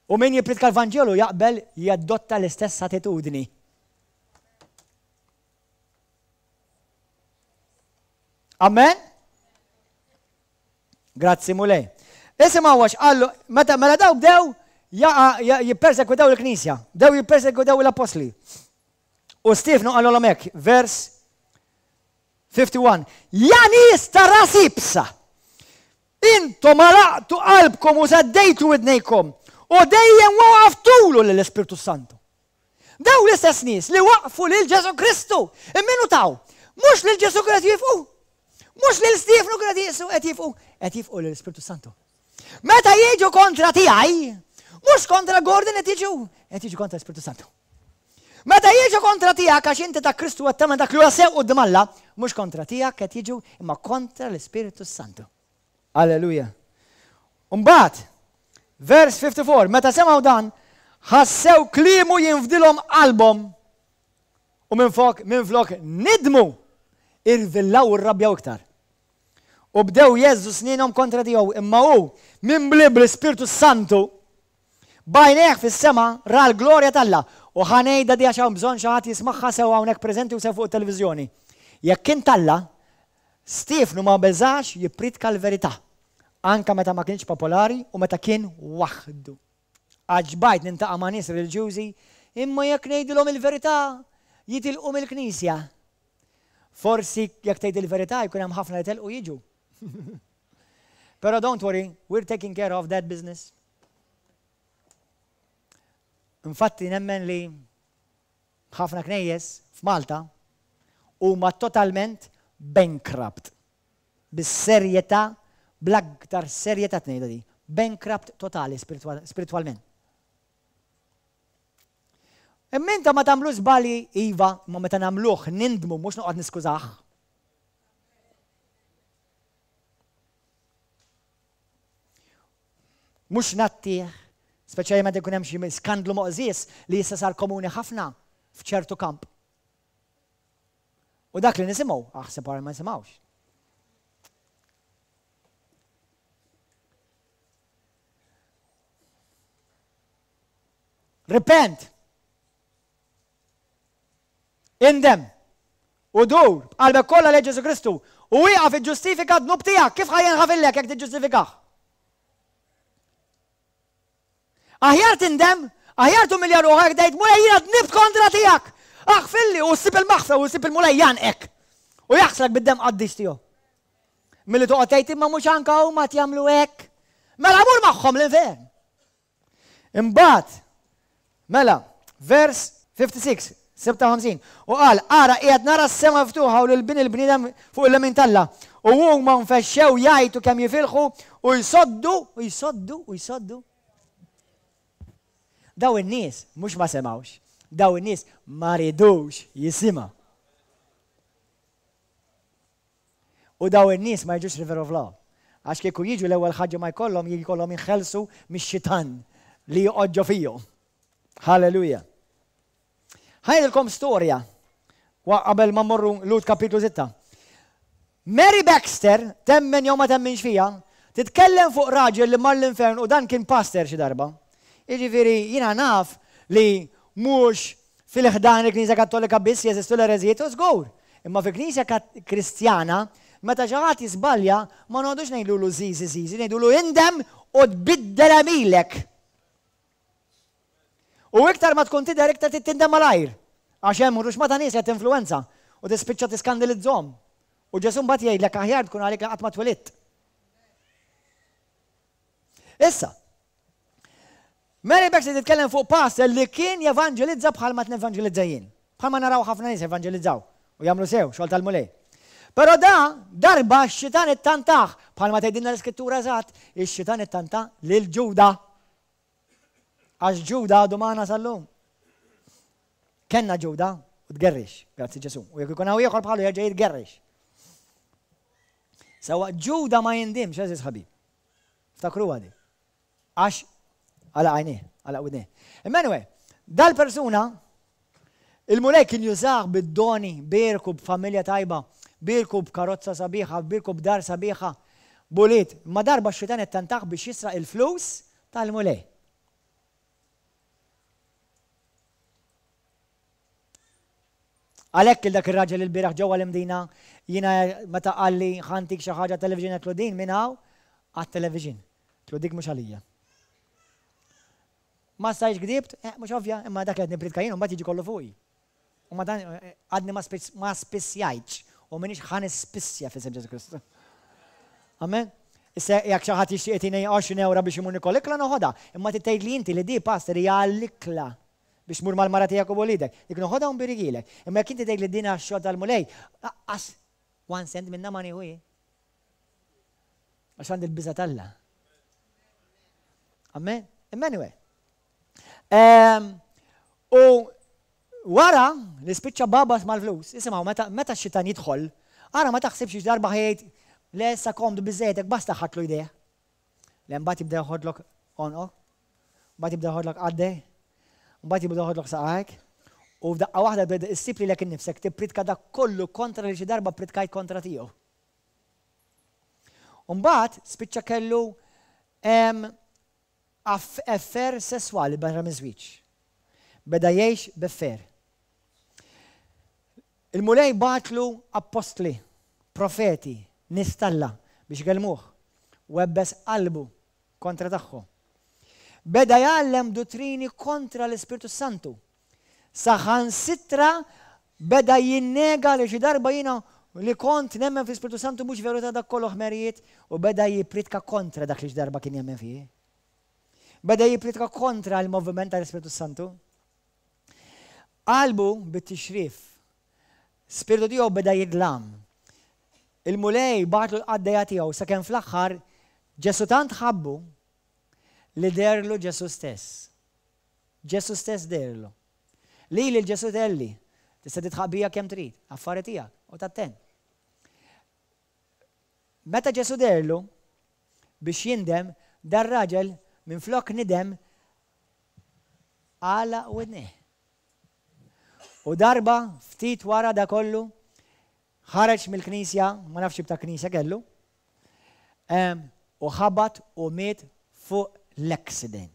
U min jippritka l-Vanġelu jaqbel jadotta l-istess attitudni. Amen? Grazzi Mulej. Isimgħu għax qallu, meta mela daw bdew jippersekwitaw il-Knisja, bdew jippersekwitaw l-Appostli. U Stiefnu qalulhom hekk, vers fifty one, Ja nies ta' ras iebsa! Intom għalaqtu qalbkom u saddejtu widnejkom u dejjem waqaftulu lill-Ispirtu Santu. Dawn l-istess nies li waqfu lil Ġesù Kristu, imma taw, mhux lil Ġesù qed jifqu, mhux lil Stiefnu qed jiqsu qed jifqu, qed jifqu lill-Ispirtu Santu. Meta jiġu kontra tiegħi, mhux kontra Gordon qed jiġu, qed jiġu kontra l-Ispirtu Santu. Meta jiġu kontra tiegħek għax inti ta' Kristu qed tagħmel dak li huwa sew quddiem Alla, mhux kontra tiegħek qed jiġu imma kontra l-Ispirtu Santu. Alleluja. Mbagħad, vers fifty four, meta semgħu dan, ħassew kliemu jinfdilhom qalbhom u minflok minflok nidmu irvillaw u rrabjaw iktar. U bdew jeżżu snienhom kontra tiegħu, imma hu mimli bl-Ispirtu Santu b'għajnejh fis-sema ra l-glorja t'Alla. U ħa ngħidha di għax hawn bżonn xi ħadd jismagħha sew hawnhekk preżenti u sew fuq it-televiżjoni. Jekk kien t'Alla, Stiefnu ma beżax jippritka l-verità, anka meta ma kienx popolari u meta kien waħdu. Għax bajt nintaqa' ma' nies reliġjużi, imma jekk ngħidilhom il-verità jitilqu mill-Knisja. Forsi jekk tgħid il-verità jkun hemm ħafna li telqu jiġu. Però don't worry, we're taking care of that business. Infatti nemmen li ħafna knejjes f'Malta huma totalment bankrupt. Bis-serjetà, bl-aktar serjetà tnejda di. Bankrupt totali spiritwalment. Imma inta ma tagħmlu żbalji, iva, imma meta nagħmluh nindmu mhux noqgħod niskużah. Mhux nattih, speċjalment ikun hemm xi skandlu moqżież li issa sar komuni ħafna f'ċertu kamp. U dak li nisimgħu, aħseb wara ma nisimgħux. Repent. Indem. U dur b'qalbek kollha lejn Ġesù Kristu u wieqaf iġġustifika d-dnub tiegħek. Kif ħa jinħafillek jekk tiġġustifikah? Aħjar tindem, aħjar tumilja ruħek tgħid Mulej jiena dnibt kontra tiegħek. Aħfilli u ssib il-maħfra u ssib il-Mulej janqek u jaħslek bid-demm qaddis tiegħu. Milli toqgħod tgħid imma mhux anka huma jagħmlu hekk. Mela mur magħhom l-infern. Imbagħad, mela, vers fifty six, sitta u ħamsin, u qal, ara qiegħed nara s-sema miftuħa u lil bin il-bniedem fuq il-lemin t'Alla. U huma nfexxew jgħajtu kemm jifilħu u jsoddu, u jsoddu, u jsoddu. Daw in-nies mhux ma semgħux, daw in-nies ma ridux jisimgħu. U daw in-nies ma jiġux River of Love. Għax kieku jiġu l-ewwel ħaġa ma jkollhom jkollhom jinħelsu mix-xitan li joqgħod ġo fihom. Halleluja. Ħajdilkom storja qabel ma mmorru Lut kapitlu sitta. Mary Baxter, temmen jew ma temminx fija, titkellem fuq raġel li mar l-infern u dan kien pastor xi darba. Jiġifieri jiena naf li mhux fil-ħdan il-Knisja Kattolika biss jeżistu l-ereżijiet u żgur. Imma fil-Knisja Kristjana, meta xi ħadd jiżbalja, ma noqogħdux ngħidulu żiżi żiżi, ngħidulu indem u tbiddel għemilek. U iktar ma tkun tidher iktar trid tindem malajr. Għax hemm ruxma ta' nies qed tinfluwenza u tispiċċa tiskandilizzhom. U Ġesù mbagħad jgħidlek aħjar tkun għalik li qatt ma twelidt. Issa, Mary Baxter titkellem fuq pastor li kien jevanġelizza bħalma tnevanġelizza jien. Bħalma naraw ħafna nies evanġelizzaw u jagħmlu sew xogħol tal-Mulej. Però da darba x-xitan ittantah, bħalma tgħidilna l-Iskrittura eżatt, ix-xitan ittanta lil Ġuda. Għax Ġuda għadu magħna sal-lum. Kenna Ġuda u tgerrix, grazzi Ġesù. U jekk ikun hawn ieħor bħalu jerġa' jitgerrix. Sewwa Ġuda ma jindimx, għeżież ħabib. Ftakruha di. Għax għalaq għajnejh, għalaq widnejh. Imma anyway, dal-persuna il-Mulej kien jużah bid-doni, bierku b'familja tajba, bierku b'karozza sabiħa, bierku b'dar sabiħa, b'ulied. Imma darba x-xitan ittantah biex jisraq il-flus tal-Mulej. Għalhekk il dak ir-raġel il-bieraħ ġewwa l-Imdina jiena meta qalli ħa ntik xi ħaġa television għedtlu din minn hawn għat-television. Għedtlu dik mhux għalija. Ma stajtx gdibt, eh, mhux ovvja, imma dak li qed nippriedka jien u mbagħad jiġi kollu fuqi. U ma dan eh, għadni ma spissjajtx u m'iniex ħa nispissja f'isem Ġesu Kristu. Amen. Issa jekk xi ħadd jixtieq jtina għoxrin ewra biex imur nikol ikla noħodha, imma trid tgħidli inti li di pastor hija għall-ikla biex tmur mal-mara tiegħek u b'uliedek. Dik noħodha u nbirigilek. Imma jekk inti tgħid li din għax-xogħol tal-Mulej, aqqas one cent minnha ma nieħu jien. Għax għandi l-biża' t'Alla. Amen. Imma anyway. Ehm, u wara li spiċċa babas mal-flus, isimgħu meta meta x-xitan jidħol, ara ma taħsibx darba ħejt le issa komdu biżejtek basta ħadtlu jdejh. Le mbagħad jibda joħodlok għonqok, mbagħad jibda joħodlok qaddej, mbagħad jibda joħodlok saqajk, u f'daqqa waħda tibda issib lilek innifsek tippritka dak kollu kontra li xi darba ppritkajt kontra tiegħu. U mbagħad spiċċa kellu affair sesswali barra miż-żwieġ. Beda jgħix b'affair. Il-Mulej bagħatlu appostli, profeti, nies t'Alla biex ikellmuh. Webbes qalbu kontra tagħhom. Beda jgħallem duttrini kontra l-Ispirtu s-Santu. Saħansitra beda jinnega li xi darba jiena li kont nemmen fl-Ispirtu Santu mhux veru ta' dak kollu ħmerijiet u beda jippriedka kontra dak li xi darba kien jemmen fih. Beda jippriedka kontra l-moviment tal-Ispirtu Santu. Qalbu bit-tixrif. Spirtu tiegħu beda jidlam. Il-Mulej bagħatlu l-qaddejja tiegħu sakemm fl-aħħar Ġesù tant ħabbu li deherlu Ġesù stess. Ġesù stess deherlu. Lili l-Ġesù tgħelli, tista' tidħaq bija kemm trid, affari tiegħek, u tattent. Meta Ġesù deherlu biex jindem, dar-raġel minflok nidem għalaq widnejh. U darba, ftit wara da kollu, ħareġ mill-knisja, ma nafx x'tip ta' knisja kellu, u ħabat u miet fuq l-accident.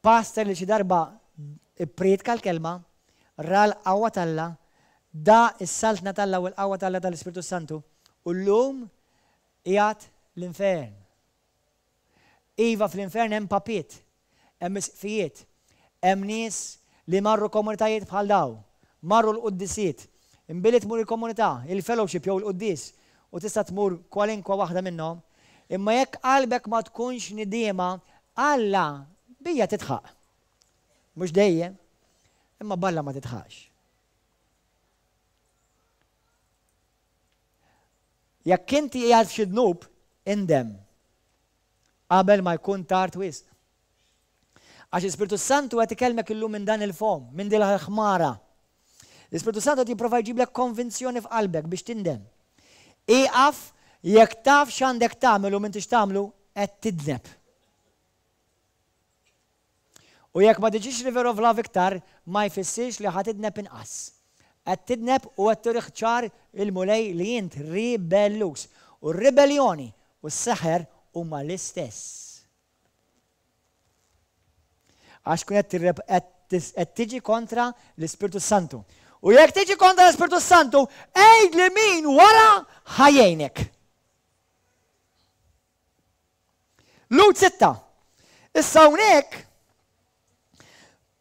Pastor li xi darba ipprietka l-kelma, ra l-qawwa t'Alla, daq is-saltna t'Alla u l-qawwa t'Alla tal-Ispirtu Santu, u llum qiegħed l-infern. Iva fl-infern hemm papiet, hemm isqfijiet, hemm nies li marru komunitajiet bħal daw, marru l-quddisiet, imbilli tmur il-komunità, il-fellowship jew il-quddies, u tista' tmur kwalinkwa waħda minnhom, imma jekk qalbek ma tkunx nidiema, Alla bija tidħaq. Mhux dejjem, imma b'Alla ma tidħaqx. Jekk inti qiegħed f'xi dnub, indem qabel ma jkun tard wisq. Għax l-Ispirtu Santu qed ikellmek illum minn dan il-fom, minn din il-ħmara. L-Ispirtu Santu qed jipprova jġiblek konvinzjoni f'qalbek biex tindem. Ieqaf jekk taf x'għandek tagħmel u m'intix tagħmlu qed tidneb. U jekk ma tiġix River of Love iktar, ma jfissirx li ħa tidneb inqas. Qed tidneb u qed turih ċar il-Mulej li int ribelluż. U r-ribelljoni u s-seħer huma l-istess. Għax tkun qed tiġi kontra l-Ispirtu Santu. U jekk tiġi kontra l-Ispirtu Santu, għidli min wara ħa jgħinek. Lhud sitta. Issa hawnhekk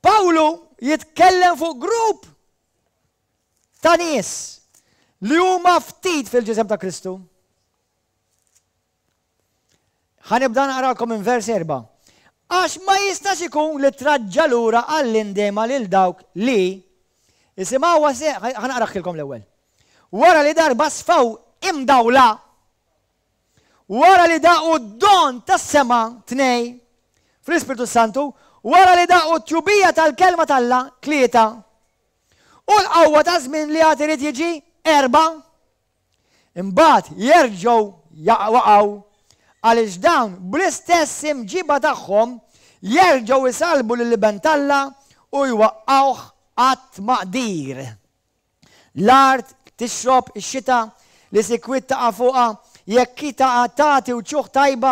Pawlu jitkellem fuq grupp ta' nies li huma ftit fil-ġisem ta' Kristu. Ħa nibda naqralkom minn vers erba'. Għax ma jistax ikun li traġġa' lura għall-indiema lil dawk li isimgħuha se ħa naqraħilkom l-ewwel. Wara li darba sfaw imdawla Wara li daqu d-don tas-sema, tnej, fl-Ispirtu s-Santu, wara li daqu t-tjubija tal-Kelma t'Alla, tlieta, u l-qawwa ta' żmien li għad irid jiġi, erbgħa, Imbagħad jerġgħu waqgħu għaliex dawn bl-istess imġiba tagħhom jerġgħu jsalbu lill-Iben t'Alla u jwaqqgħuh għat-tmaqdir. L-art tixrob ix-xita li sikwit taqa' fuqha, jekk hi taqa' tagħti wċuħ tajba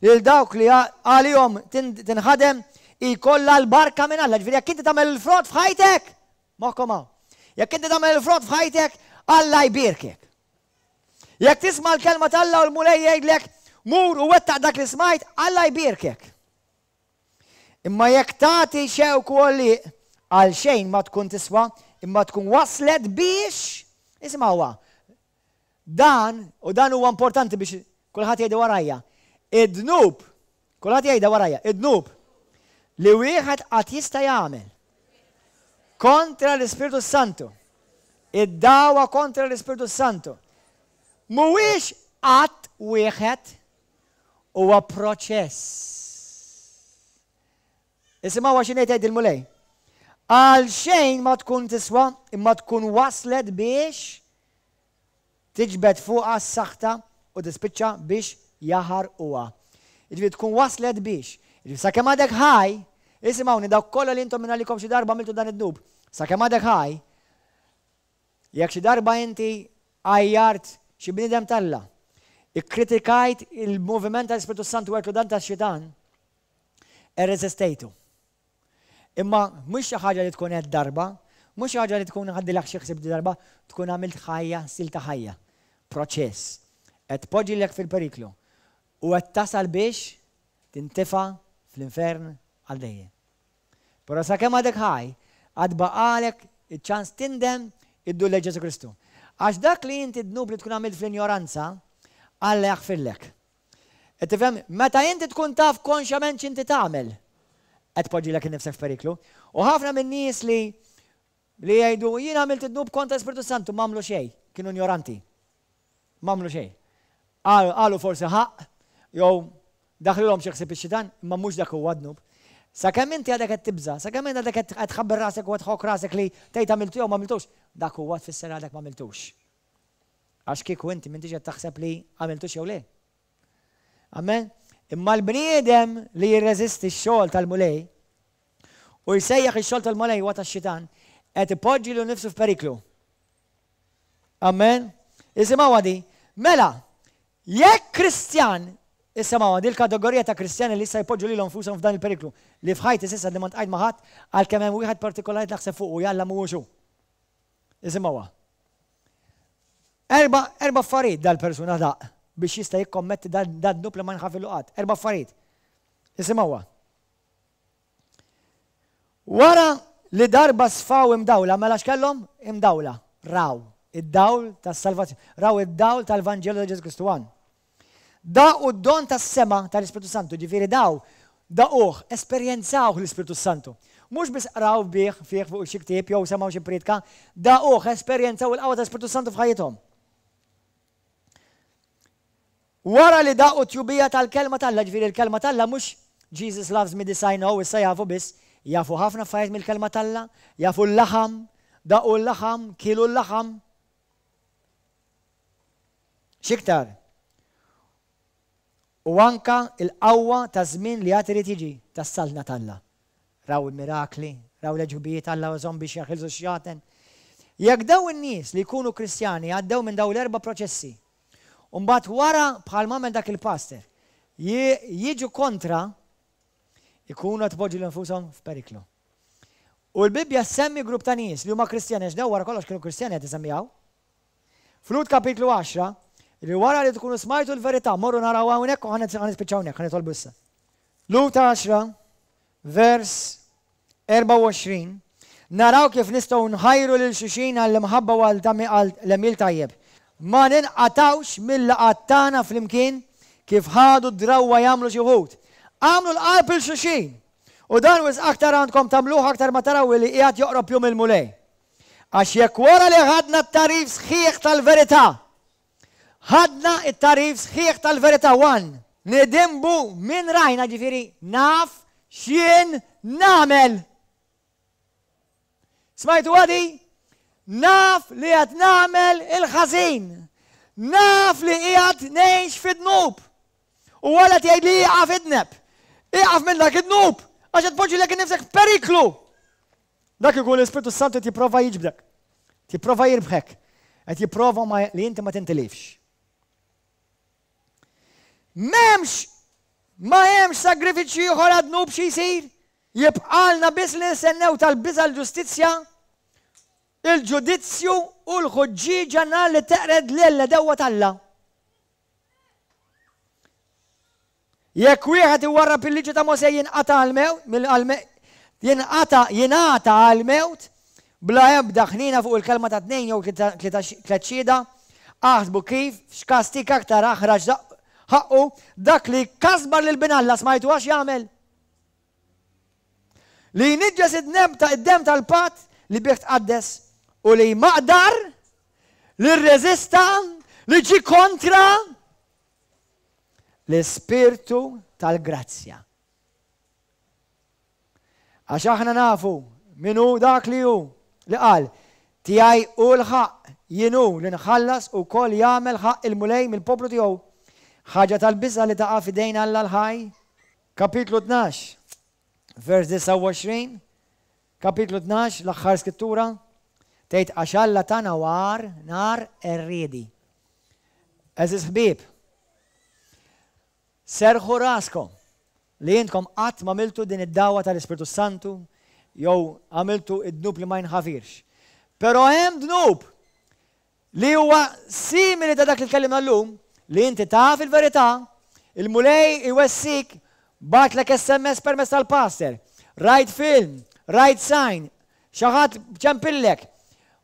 lil dawk li għalihom tinħadem, ikollha l-barka minn Alla. Ġifieri jekk inti tagħmel il-frott f'ħajtek, moħħkom hawn. Jekk inti tagħmel il-frott f'ħajtek, Alla jbierkek. Jekk tisma' l-kelma t'Alla u l-Mulej jgħidlek mur u wettaq dak li smajt, Alla jbierkek. Imma jekk tagħti xewk u għollieq, għal xejn ma tkun tiswa, imma tkun waslet biex, isimgħuha, dan, u dan huwa importanti biex kulħadd jgħidu warajja, id-dnub, kulħadd jgħidha warajja, id-dnub li wieħed qatt jista' jagħmel kontra l-Ispirtu Santu, id-dawa kontra l-Ispirtu Santu, mhuwiex qatt wieħed, huwa proċess. Isimgħu x'inhi tgħid il-Mulej. Għal xejn ma tkun tiswa, imma tkun waslet biex tiġbed fuqha s-saħta u tispiċċa biex jaħarquha. Jiġifieri tkun waslet biex. Jiġifieri sakemm għadek ħaj, isimgħuni dawk kollha li intom minn għalikom xi darba għamiltu dan id-dnub, sakemm għadek ħaj, jekk xi darba inti għajjart xi bniedem t'Alla, ikkritikajt il-moviment tal-Ispirtu Santu għedtlu dan tax-xitan, irreżistejtu. Imma mhux xi ħaġa li tkun qed darba, mhux xi ħaġa li tkun ħaddilek xi ħsieb darba, tkun għamilt ħajja, stil ta' ħajja. Proċess. Qed tpoġġilek fil-periklu u qed tasal biex tintifa' fl-infern għal dejjem. Però sakemm għadek ħaj, għad baqalek iċ-ċans tindem iddur lejn Ġesù Kristu. Għax dak li inti dnub li tkun għamilt fl-injoranza, Alla jaħfirlek. Qed tifhem? Meta inti tkun taf konxjament x'inti tagħmel, qed tpoġġilek innifsek f'periklu. U ħafna min-nies li li jgħidu jien għamilt id-dnub kontra l-Ispirtu Santu m'għamlu xejn, kienu injoranti. M'għamlu xejn. Qalu forsi ħaqq jew daħlilhom xi ħsieb ix-xitan, imma mhux dak huwa dnub. Sakemm inti għadek qed tibża', sakemm inti għadek qed tħabber rasek u qed tħokk rasek li tgħid għamiltu jew m'għamiltux, dak huwa tfisser għadek m'għamiltux. Għax kieku inti m'intix qed taħseb li għamiltux jew le. Amen? Imma l-bniedem li jirreżisti x-xogħol tal-Mulej u jsejjaħ ix-xogħol tal-Mulej huwa tax-xitan, qed ipoġġi lilu nnifsu f'periklu. Amen? Isimgħu di. Mela, jekk Kristjan, isimgħu di l-kategorija ta' Kristjani li issa jpoġġu lilhom nfushom f'dan il-periklu, li f'ħajti s'issa li ma ntqajt ma' ħadd għalkemm hemm wieħed partikolari naħseb fuq u jalla mhuwiex hu. Isimgħuha. Erba, erba affarijiet dal-persuna daq biex jista' jikkommetti dan dnub li ma nħafillu qatt. Erba affarijiet. Isimgħuha. Wara li darba sfaw imdawla, mela x'kellhom? Imdawla. Raw id-dawl tas-salvazzjoni. Raw id-dawl tal-Vanġelu ta' Ġesù Kristu għan. Daqu d-don tas-sema tal-Ispirtu Santu, ġifieri daw, daquh, esperjenzawh l-Ispirtu Santu. Mhux biss qraw bih fih fuq xi ktieb jew semgħu xi priedka, daquh, esperjenzaw il-qawwa tal-Ispirtu Santu f'ħajjithom. Wara li daqu t-tjubija tal-kelma t'Alla, ġifieri l-kelma t'Alla mhux Jesus loves me this I know, issa jafu biss, jafu ħafna affarijiet mill-kelma t'Alla, jafu l-laħam, daqu l-laħam, kielu l-laħam. X'iktar? U anka il-qawwa ta' żmien li għad irid jiġi tas-saltna t'Alla. Raw il-mirakli, raw l-għeġubijiet Alla użahom biex jaħilsu x-xjaten. Jekk daw in-nies li jkunu Kristjani għaddew minn daw l-erba' proċessi, u mbagħad wara bħal m'għamel dak il-pastor, jiġu kontra, ikunu qed ipoġġu lil nfushom f'periklu. U l-Bibbja ssemmi grupp ta' nies li huma Kristjani, għax daw wara kollox kienu Kristjani qed isemmijaw. F'Lut kapitlu għaxra, li wara li tkunu smajtu l-verità, morru naraw hawnhekk u ħa nispiċċaw hawnhekk, ħa nitolbu issa. Lut għaxra, vers erbgħa u għoxrin, naraw kif nistgħu nħajru lil xulxin għall-imħabba u għal l-għemil tajjeb. Ma ninqatgħux mill-laqgħat tagħna flimkien kif ħadu d-drawwa jagħmlu xi wħud. Agħmlu l-qalb lil xulxin. U dan wisq aktar għandkom tagħmluh aktar ma taraw li qiegħed joqrob jum il-Mulej. Għax jekk wara li ħadna t-tagħrif sħiħ tal-verità, ħadna t-tagħrif sħiħ tal-verità one, nidinbu minn rajna, ġifieri naf x'jien nagħmel. Smajtu għadi? Naf li qed nagħmel il-ħażin. Naf li qiegħed ngħix fid-dnub. U Alla tgħid li ieqaf idneb. Ieqaf minn dak id-dnub għax qed tpoġġi lek innifsek f'periklu. Dak ikun l-Ispirtu Santu qed jipprova jiġbdek. Jipprova jirbħek. Qed jipprova li inti ma tintilifx. M'hemmx ma hemmx sagrifiċċju ieħor għad-dnub xi jsir. Jibqalna biss li nistennew tal-biża' l-ġustizzja, il-ġudizzju u l-ħuġġieġa nar li teqred lil-għedewwa t'Alla. Jekk wieħed iwarrab il-liġi ta' Mosè jinqata' għall-mewt, jinqata' jingħata għall-mewt bla ebda ħniena fuq il-kelma ta' tnejn jew tliet xhieda. Aħsbu kif, f'x'kastig aktar aħrax ħaqqu dak li jkasbar lil Bin Alla, smajtu għax jagħmel? Li jniġġes id-demm tal-patt li bih tqaddes u li jmaqdar, li rreżista, li ġie kontra l-Ispirtu tal-grazzja. Għax aħna nafu min hu dak li hu li qal, tiegħi hu l-ħaqq, jien hu li nħallas u wkoll jagħmel ħaqq il-Mulej mill-poplu tiegħu. Ħaġa tal-biża' li taqa' f'idejn Alla l-ħaj. Kapitlu tnax, vers disgħa u għoxrin, kapitlu tnax, l-aħħar skrittura, tgħid għax Alla tana war nar qerriedi. Għeżież ħbieb, serrħu raskom li intkom qatt ma għamiltu din id-dagħwa tal-Ispirtu Santu jew għamiltu id-dnub li ma jinħafirx. Però hemm dnub li huwa simili ta' dak li tkellimna llum, li inti taf il-verità, il-Mulej iwessik, bagħatlek S M S permezz tal-pastor, rajt film, rajt sign, xi ħadd ċempillek,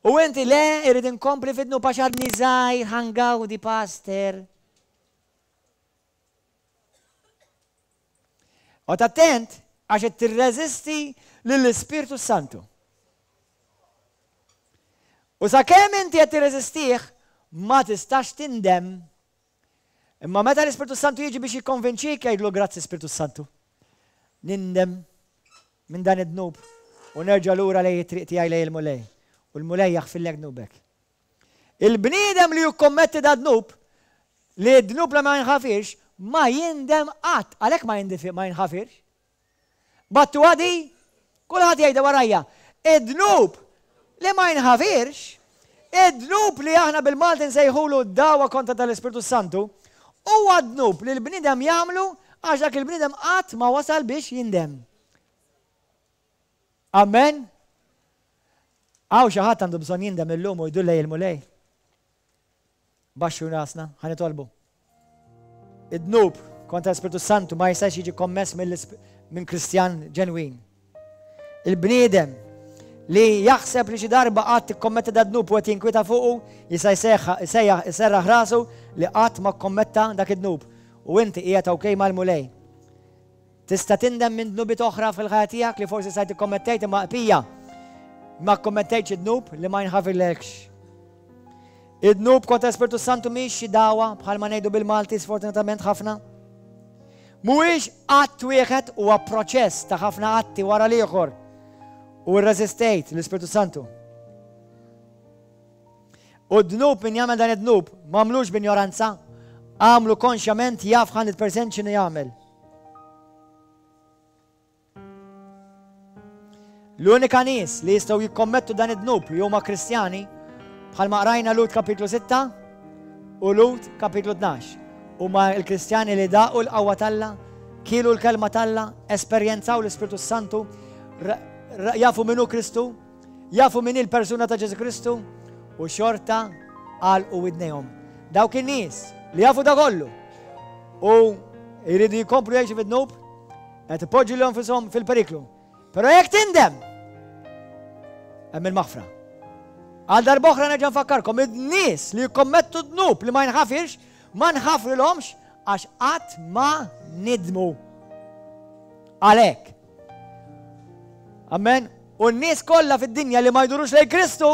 u inti le irrid inkompli fid-dnub għax għadni żgħir ħangawdi pastor. Oqgħod attent għax qed tirreżisti lill-Ispirtu Santu. U sakemm inti qed tirreżistih, ma tistax tindem. Imma meta l-Ispirtu Santu jiġi biex jikkonvinċik, jgħidlu grazzi Spirtu Santu. Nindem minn dan id-dnub u nerġa' lura lejn it-triq tiegħi lejn il-Mulej. U l-Mulej jaħfirlek dnubek. Il-bniedem li jikkommetti da dnub, li d-dnub li ma jinħafirx, ma jindem qatt, għalhekk ma jindif-, ma jinħafirx. Battu għadi, kulħadd jgħidha warajja. Id-dnub li ma jinħafirx, id-dnub li aħna bil-Malti nsejħulu d-dagħwa kontra tal-Ispirtu Santu, huwa dnub li l-bniedem jagħmlu għax dak il-bniedem qatt ma wasal biex jindem. Amen? Hawn xi ħadd għandu bżonn jindem illum u jdur lejn il-Mulej. Baxxu rasna, ħa nitolbu. Id-dnub kontra l-Ispirtu Santu ma jistax jiġi kommess mill-isp-, minn Kristjan ġenwin. Il-bniedem li jaħseb li xi darba qatt ikkommetta da dnub u qed jinkwieta fuqu, jista' jsejjaħ, isejjaħ, iserraħ rasu li qatt ma kkommetta dak id-dnub. U inti qiegħed okej mal-Mulej. Tista' tindem minn dnubiet oħra fil-ħajja tiegħek li forsi sajt ikkommettejt imma qbija ma kkommettejtx id-dnub li ma jinħafirlekx. Id-dnub kontra l-Ispirtu Santu mhix xi dagħwa bħalma ngħidu bil-Malti sfortunatament ħafna. Mhuwiex att wieħed, huwa proċess ta' ħafna atti wara l-ieħor. U rreżistejt l-Ispirtu Santu. U d-dnub min jagħmel dan id-dnub m'għamlux b'injoranza, għamlu konxjament, jaf hundred percent x'inhu jagħmel. L-unika nies li jistgħu jikkommettu dan id-dnub li huma Kristjani, bħalma qrajna Lhud kapitlu sitta u Lhud kapitlu tnax, huma l-Kristjani li daqu l-qawwa t'Alla, kielu l-kelma t'Alla, esperjenzaw l-Ispirtu Santu, ra-, ra-, jafu min hu Kristu, jafu min hi l-persuna ta' Ġesu Kristu, u xorta għalqu widnejhom. Dawk in-nies li jafu da kollu u jridu jkomplu jgħixu fid-dnub, qed ipoġġu lilhom nfushom fil-periklu. Però jekk tindem, hemm il-maħfra. Għal darb'oħra nerġa' nfakkarkom, in-nies li jikkommettu dnub li ma jinħafirx, ma nħafrilhomx għax qatt ma nidmu. Għalhekk. Amen. U n-nies kollha fid-dinja li ma jdurux lejn Kristu,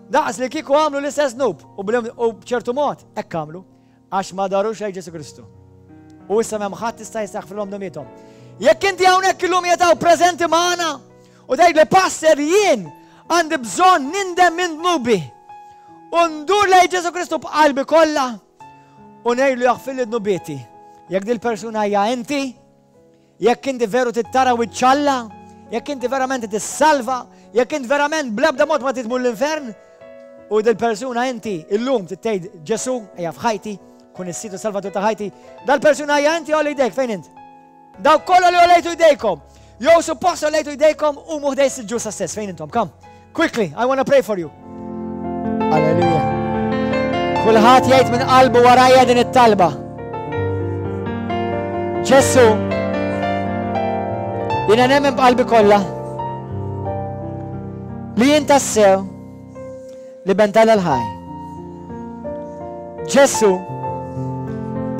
daqs li kieku għamlu l-istess dnub u bl-, u b'ċertu mod hekk għamlu għax ma darux lejn Ġesu Kristu. U issa m'hemm ħadd jista' jistaħfrilhom dnubiethom. Jekk inti hawnhekk illum jetaw preżenti magħna u tgħid li pastor jien għandi bżonn nindem minn dnubi U ndur lejn Ġesù Kristu b'qalbi kollha u ngħidlu jaħfirli dnubieti. Jekk dil-persuna hija inti, jekk inti veru trid tara wiċċ Alla, jekk inti verament tissalva, jekk inti verament bl-ebda mod ma tmur l-infern, u dil-persuna inti illum tgħid Ġesù ejja f'ħajti, kun is-Sid u Salvatur ta' ħajti, dal-persuna hija inti għolli jdejk fejn int? Dawk kollha li għollejtu jdejkom. Jew suppost għollejtu jdejkom u ħdejn is-siġġu stess fejn intom. Come, quickly, I want to pray for you. Alleluja. Kulħadd jgħid minn qalbu warajja din it-talba. Ġesù, jiena nemmen b'qalbi kollha li jien tassew l-Iben tal-ħaj. Ġesù,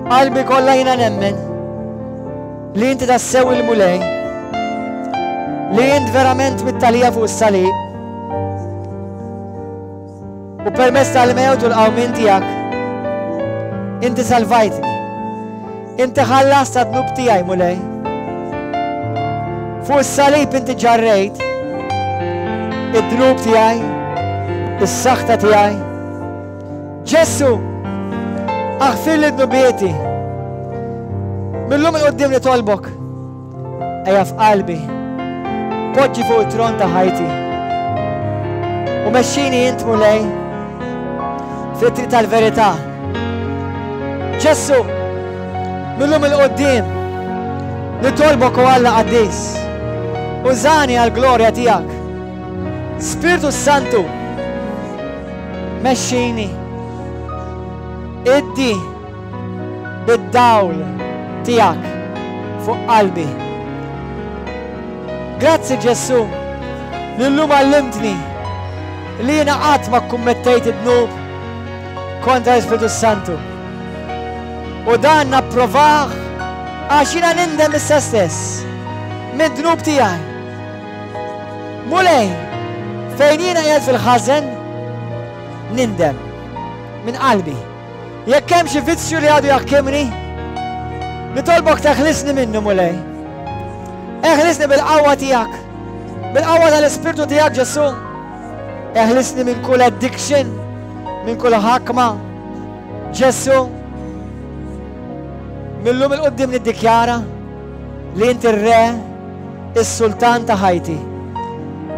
b'qalbi kollha jiena nemmen li inti tassew il-Mulej, li int verament mitt għalija fuq is-salib u permezz tal-mewt u l-qawmien tiegħek inti salvajtni. Inti ħallast għad-dnub tiegħi Mulej. Fuq is-salib inti ġarrejt id-dnub tiegħi, is-saħta tiegħi. Ġesù, aħfirli dnubieti. Mil-lum 'il quddiem nitolbok. Ejja f'qalbi. Poġġi fuq it-tron ta' ħajti. U mexxini int Mulej fit-triq tal-verità. Ġesù, mil-lum 'il quddiem nitolbok o Alla qaddis. Użani għall-glorja tiegħek. Spiritu Santu, mexxini. Iddi bid-dawl tiegħek fuq qalbi. Grazzi Ġesù, li llum għallimtni li jiena qatt ma kkummettejt id-dnub kontra l-Ispiritu Santu. U dan napprovah għax jiena nindem issa stess mid-dnub tiegħi. Mulej, fejn jiena qiegħed fil-ħażen, nindem minn qalbi. Jekk hemm xi vizzju li għadu jaħkimni, nitolbok teħlisni minnu Mulej. Eħlisni bil-qawwa tiegħek, bil-qawwa tal-Ispirtu tiegħek Ġesù. Eħlisni minn kull addiction, minn kull ħakma. Ġesù, mil-lum 'il quddiem niddikjara li inti r-re, is-sultan ta' ħajti.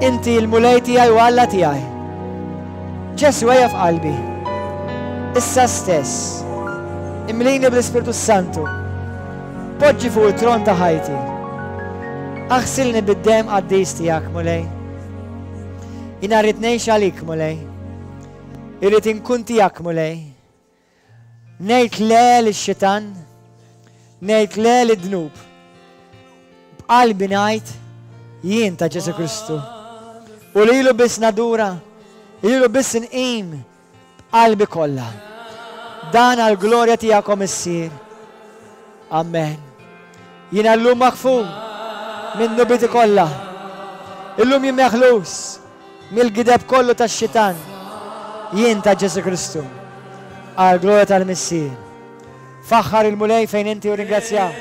Inti l-Mulej tiegħi u Alla tiegħi. Ġesù ejja f'qalbi. Issa stess. Imlini bl-Ispirtu Santu. Poġġi fuq it-tron ta' ħajti. Aħsilni bid-demm qaddis tiegħek, Mulej. Jiena rrid ngħix għalik, Mulej. Irrid inkun tiegħek, Mulej. Ngħid le lix-xitan, ngħid le lid-dnub. B'qalbi ngħid jien ta' Ġesù Kristu. U lilu biss nadura, lilu biss nqim b'qalbi kollha. Dan għall-glorja tiegħek o Missier. Amen. Jiena llum maħfur minn dnubieti kollha. Illum jien meħlus mill-gideb kollu tax-xitan. Jien ta' Ġesù Kristu. Għall-glorja tal-Missier. Faħħar il-Mulej fejn inti u ringrazzja.